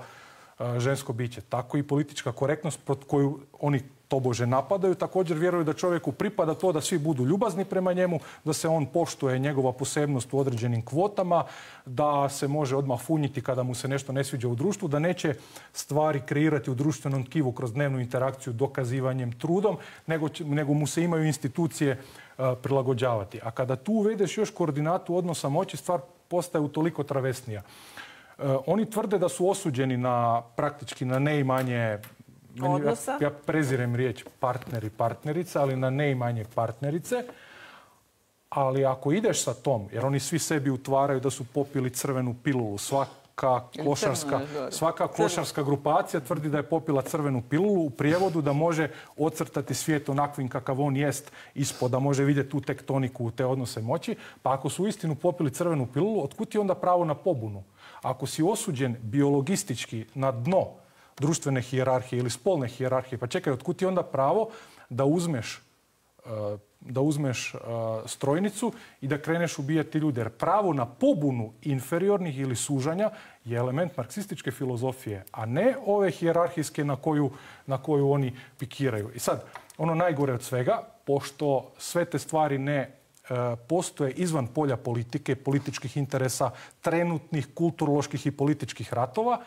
žensko biće. Tako i politička korektnost pod koju oni tobože napadaju, također vjeruju da čovjeku pripada to da svi budu ljubazni prema njemu, da se on poštuje njegova posebnost u određenim kvotama, da se može odmah funjiti kada mu se nešto ne sviđa u društvu, da neće stvari kreirati u društvenom tkivu kroz dnevnu interakciju dokazivanjem trudom, nego, će, nego mu se imaju institucije uh, prilagođavati. A kada tu uvedeš još koordinatu odnosa moći, stvar postaje utoliko travesnija. Uh, oni tvrde da su osuđeni na praktički na neimanje odnosa. Ja, ja prezirem riječ partner i partnerica, ali na neimanje partnerice. Ali ako ideš sa tom, jer oni svi sebi utvaraju da su popili crvenu pilulu, svaka klošarska, svaka klošarska grupacija tvrdi da je popila crvenu pilulu, u prijevodu da može ocrtati svijet onakvim kakav on jest ispod, da može vidjeti tu tektoniku, te odnose moći. Pa ako su uistinu popili crvenu pilulu, otkud ti onda pravo na pobunu? Ako si osuđen biologistički na dno društvene hijerarhije ili spolne hijerarhije, pa čekaj, otkud ti onda pravo da uzmeš, da uzmeš strojnicu i da kreneš ubijati ljude? Jer pravo na pobunu inferiornih ili sužanja je element marksističke filozofije, a ne ove hijerarhijske na koju, na koju oni pikiraju. I sad, ono najgore od svega, pošto sve te stvari ne postoje izvan polja politike, političkih interesa, trenutnih kulturoloških i političkih ratova,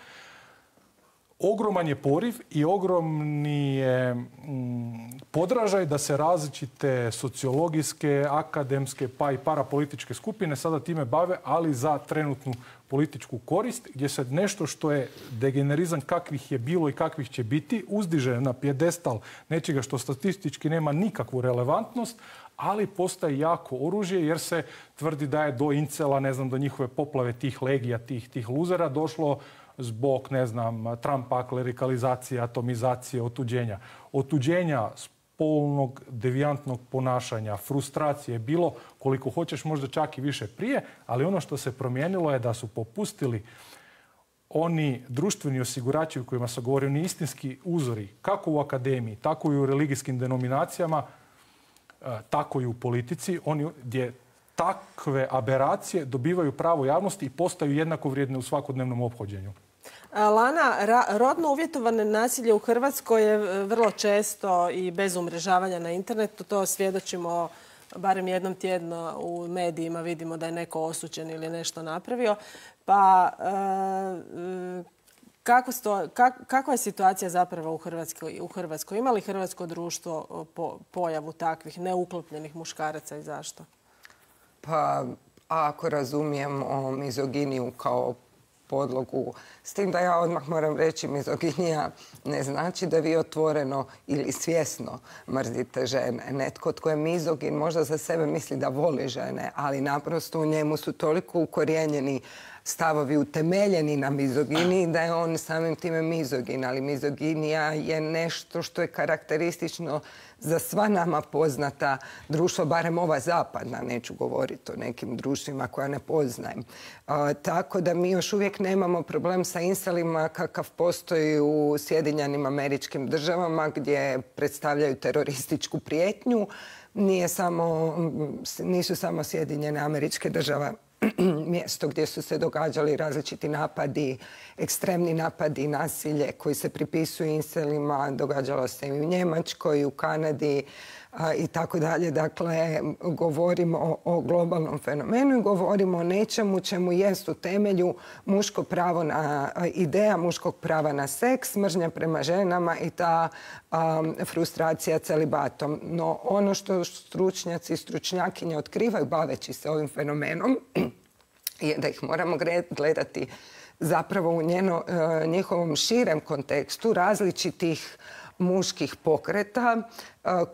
ogroman je poriv i ogromni je mm, podražaj da se različite sociologijske, akademske pa i parapolitičke skupine sada time bave, ali za trenutnu političku korist, gdje se nešto što je degenerizam kakvih je bilo i kakvih će biti uzdiže na pjedestal nečega što statistički nema nikakvu relevantnost, ali postaje jako oružje jer se tvrdi da je do incela, ne znam, do njihove poplave tih legija, tih, tih luzera došlo zbog, ne znam, Trumpa, klerikalizacije, atomizacije, otuđenja. Otuđenja spolnog, devijantnog ponašanja, frustracije, bilo koliko hoćeš, možda čak i više prije, ali ono što se promijenilo je da su popustili oni društveni osigurači u kojima se govori, oni istinski uzori, kako u akademiji, tako i u religijskim denominacijama, tako i u politici, oni gdje takve aberacije dobivaju pravo javnosti i postaju jednako vrijedne u svakodnevnom ophođenju. Lana, rodno uvjetovane nasilje u Hrvatskoj je vrlo često i bez umrežavanja na internetu. To svjedočimo barem jednom tjedno u medijima, vidimo da je neko osuđen ili nešto napravio. Pa kako sto, kak, kakva je situacija zapravo u Hrvatskoj? U Hrvatskoj? Ima li hrvatsko društvo po, pojavu takvih neuklopljenih muškaraca i zašto? Pa ako razumijemo mizoginiju kao podlogu, s tim da ja odmah moram reći, mizoginija ne znači da vi otvoreno ili svjesno mrzite žene. Netko tko je mizogin možda za sebe misli da voli žene, ali naprosto u njemu su toliko ukorijenjeni stavovi utemeljeni na mizoginiji da je on samim time mizogin. Ali mizoginija je nešto što je karakteristično za sva nama poznata društva, barem ova zapadna, neću govoriti o nekim društvima koja ne poznajem. A, tako da mi još uvijek nemamo problem sa inselima kakav postoji u Sjedinjenim Američkim Državama gdje predstavljaju terorističku prijetnju. Nije samo, nisu samo Sjedinjene Američke Države mjesto gdje su se događali različiti napadi, ekstremni napadi i nasilje koji se pripisuju inselima. Događalo se i u Njemačkoj, i u Kanadi a, i tako dalje. Dakle, govorimo o, o globalnom fenomenu i govorimo o nečemu čemu jest u temelju muško pravo na, ideja muškog prava na seks, mržnja prema ženama i ta a, frustracija celibatom. No, ono što stručnjaci i stručnjakinje otkrivaju baveći se ovim fenomenom je da ih moramo gledati zapravo u njeno, njihovom širem kontekstu različitih muških pokreta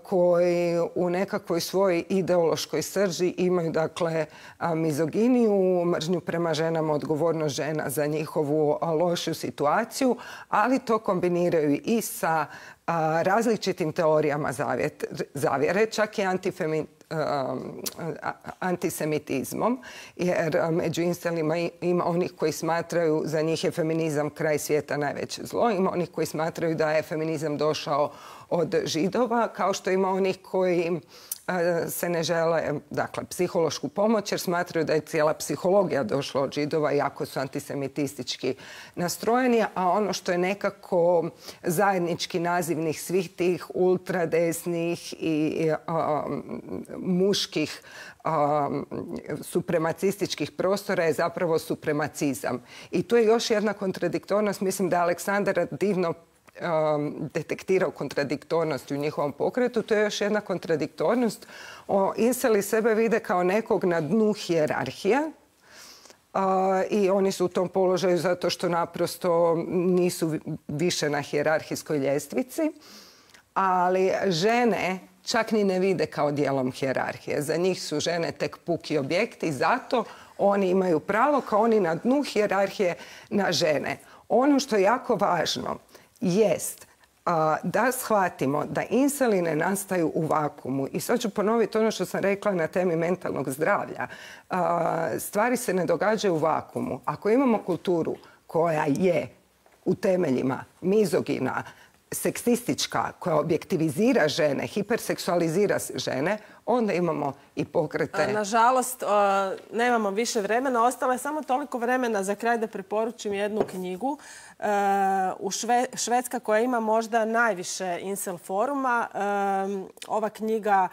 koji u nekakvoj svojoj ideološkoj srži imaju dakle mizoginiju, mržnju prema ženama, odgovornost žena za njihovu lošu situaciju, ali to kombiniraju i sa različitim teorijama zavjere, čak i antifeminizmom. antisemitizmom, jer među inselima ima onih koji smatraju za njih je feminizam kraj svijeta najveće zlo, ima onih koji smatraju da je feminizam došao od Židova, kao što ima onih koji se ne žele, dakle, psihološku pomoć jer smatraju da je cijela psihologija došla od Židova iako su antisemitistički nastrojeni, a ono što je nekako zajednički nazivnik svih tih ultradesnih i um, muških um, supremacističkih prostora je zapravo supremacizam. I tu je još jedna kontradiktornost. Mislim da je Aleksandar divno Um, detektirao kontradiktornost u njihovom pokretu. To je još jedna kontradiktornost. O, inseli sebe vide kao nekog na dnu hijerarhije uh, i oni su u tom položaju zato što naprosto nisu više na hijerarhijskoj ljestvici, ali žene čak ni ne vide kao dijelom hijerarhije. Za njih su žene tek puki objekti i zato oni imaju pravo kao oni na dnu hijerarhije na žene. Ono što je jako važno jest a, da shvatimo da inseli ne nastaju u vakumu. I sad ću ponoviti ono što sam rekla na temi mentalnog zdravlja. A, stvari se ne događaju u vakumu. Ako imamo kulturu koja je u temeljima mizogina, seksistička, koja objektivizira žene, hiperseksualizira žene, onda imamo i pokrete. Nažalost, nemamo više vremena. Ostalo je samo toliko vremena za kraj da preporučim jednu knjigu. U Švedska koja ima možda najviše incel foruma. Ova knjiga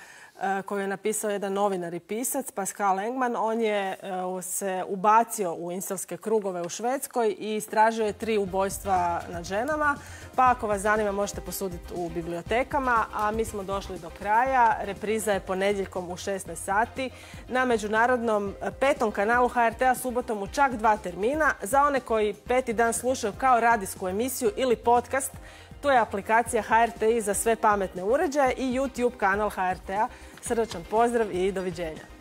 koju je napisao jedan novinar i pisac, Pascal Engman. On je se ubacio u incelske krugove u Švedskoj i istražio je tri ubojstva nad ženama. Pa ako vas zanima možete posuditi u bibliotekama, a mi smo došli do kraja. Repriza je ponedjeljkom u šesnaest sati na međunarodnom petom kanalu H R T-a subotom u čak dva termina. Za one koji peti dan slušaju kao radijsku emisiju ili podcast, tu je aplikacija H R T I za sve pametne uređaje i YouTube kanal H R T-a. Srdačan pozdrav i doviđenja.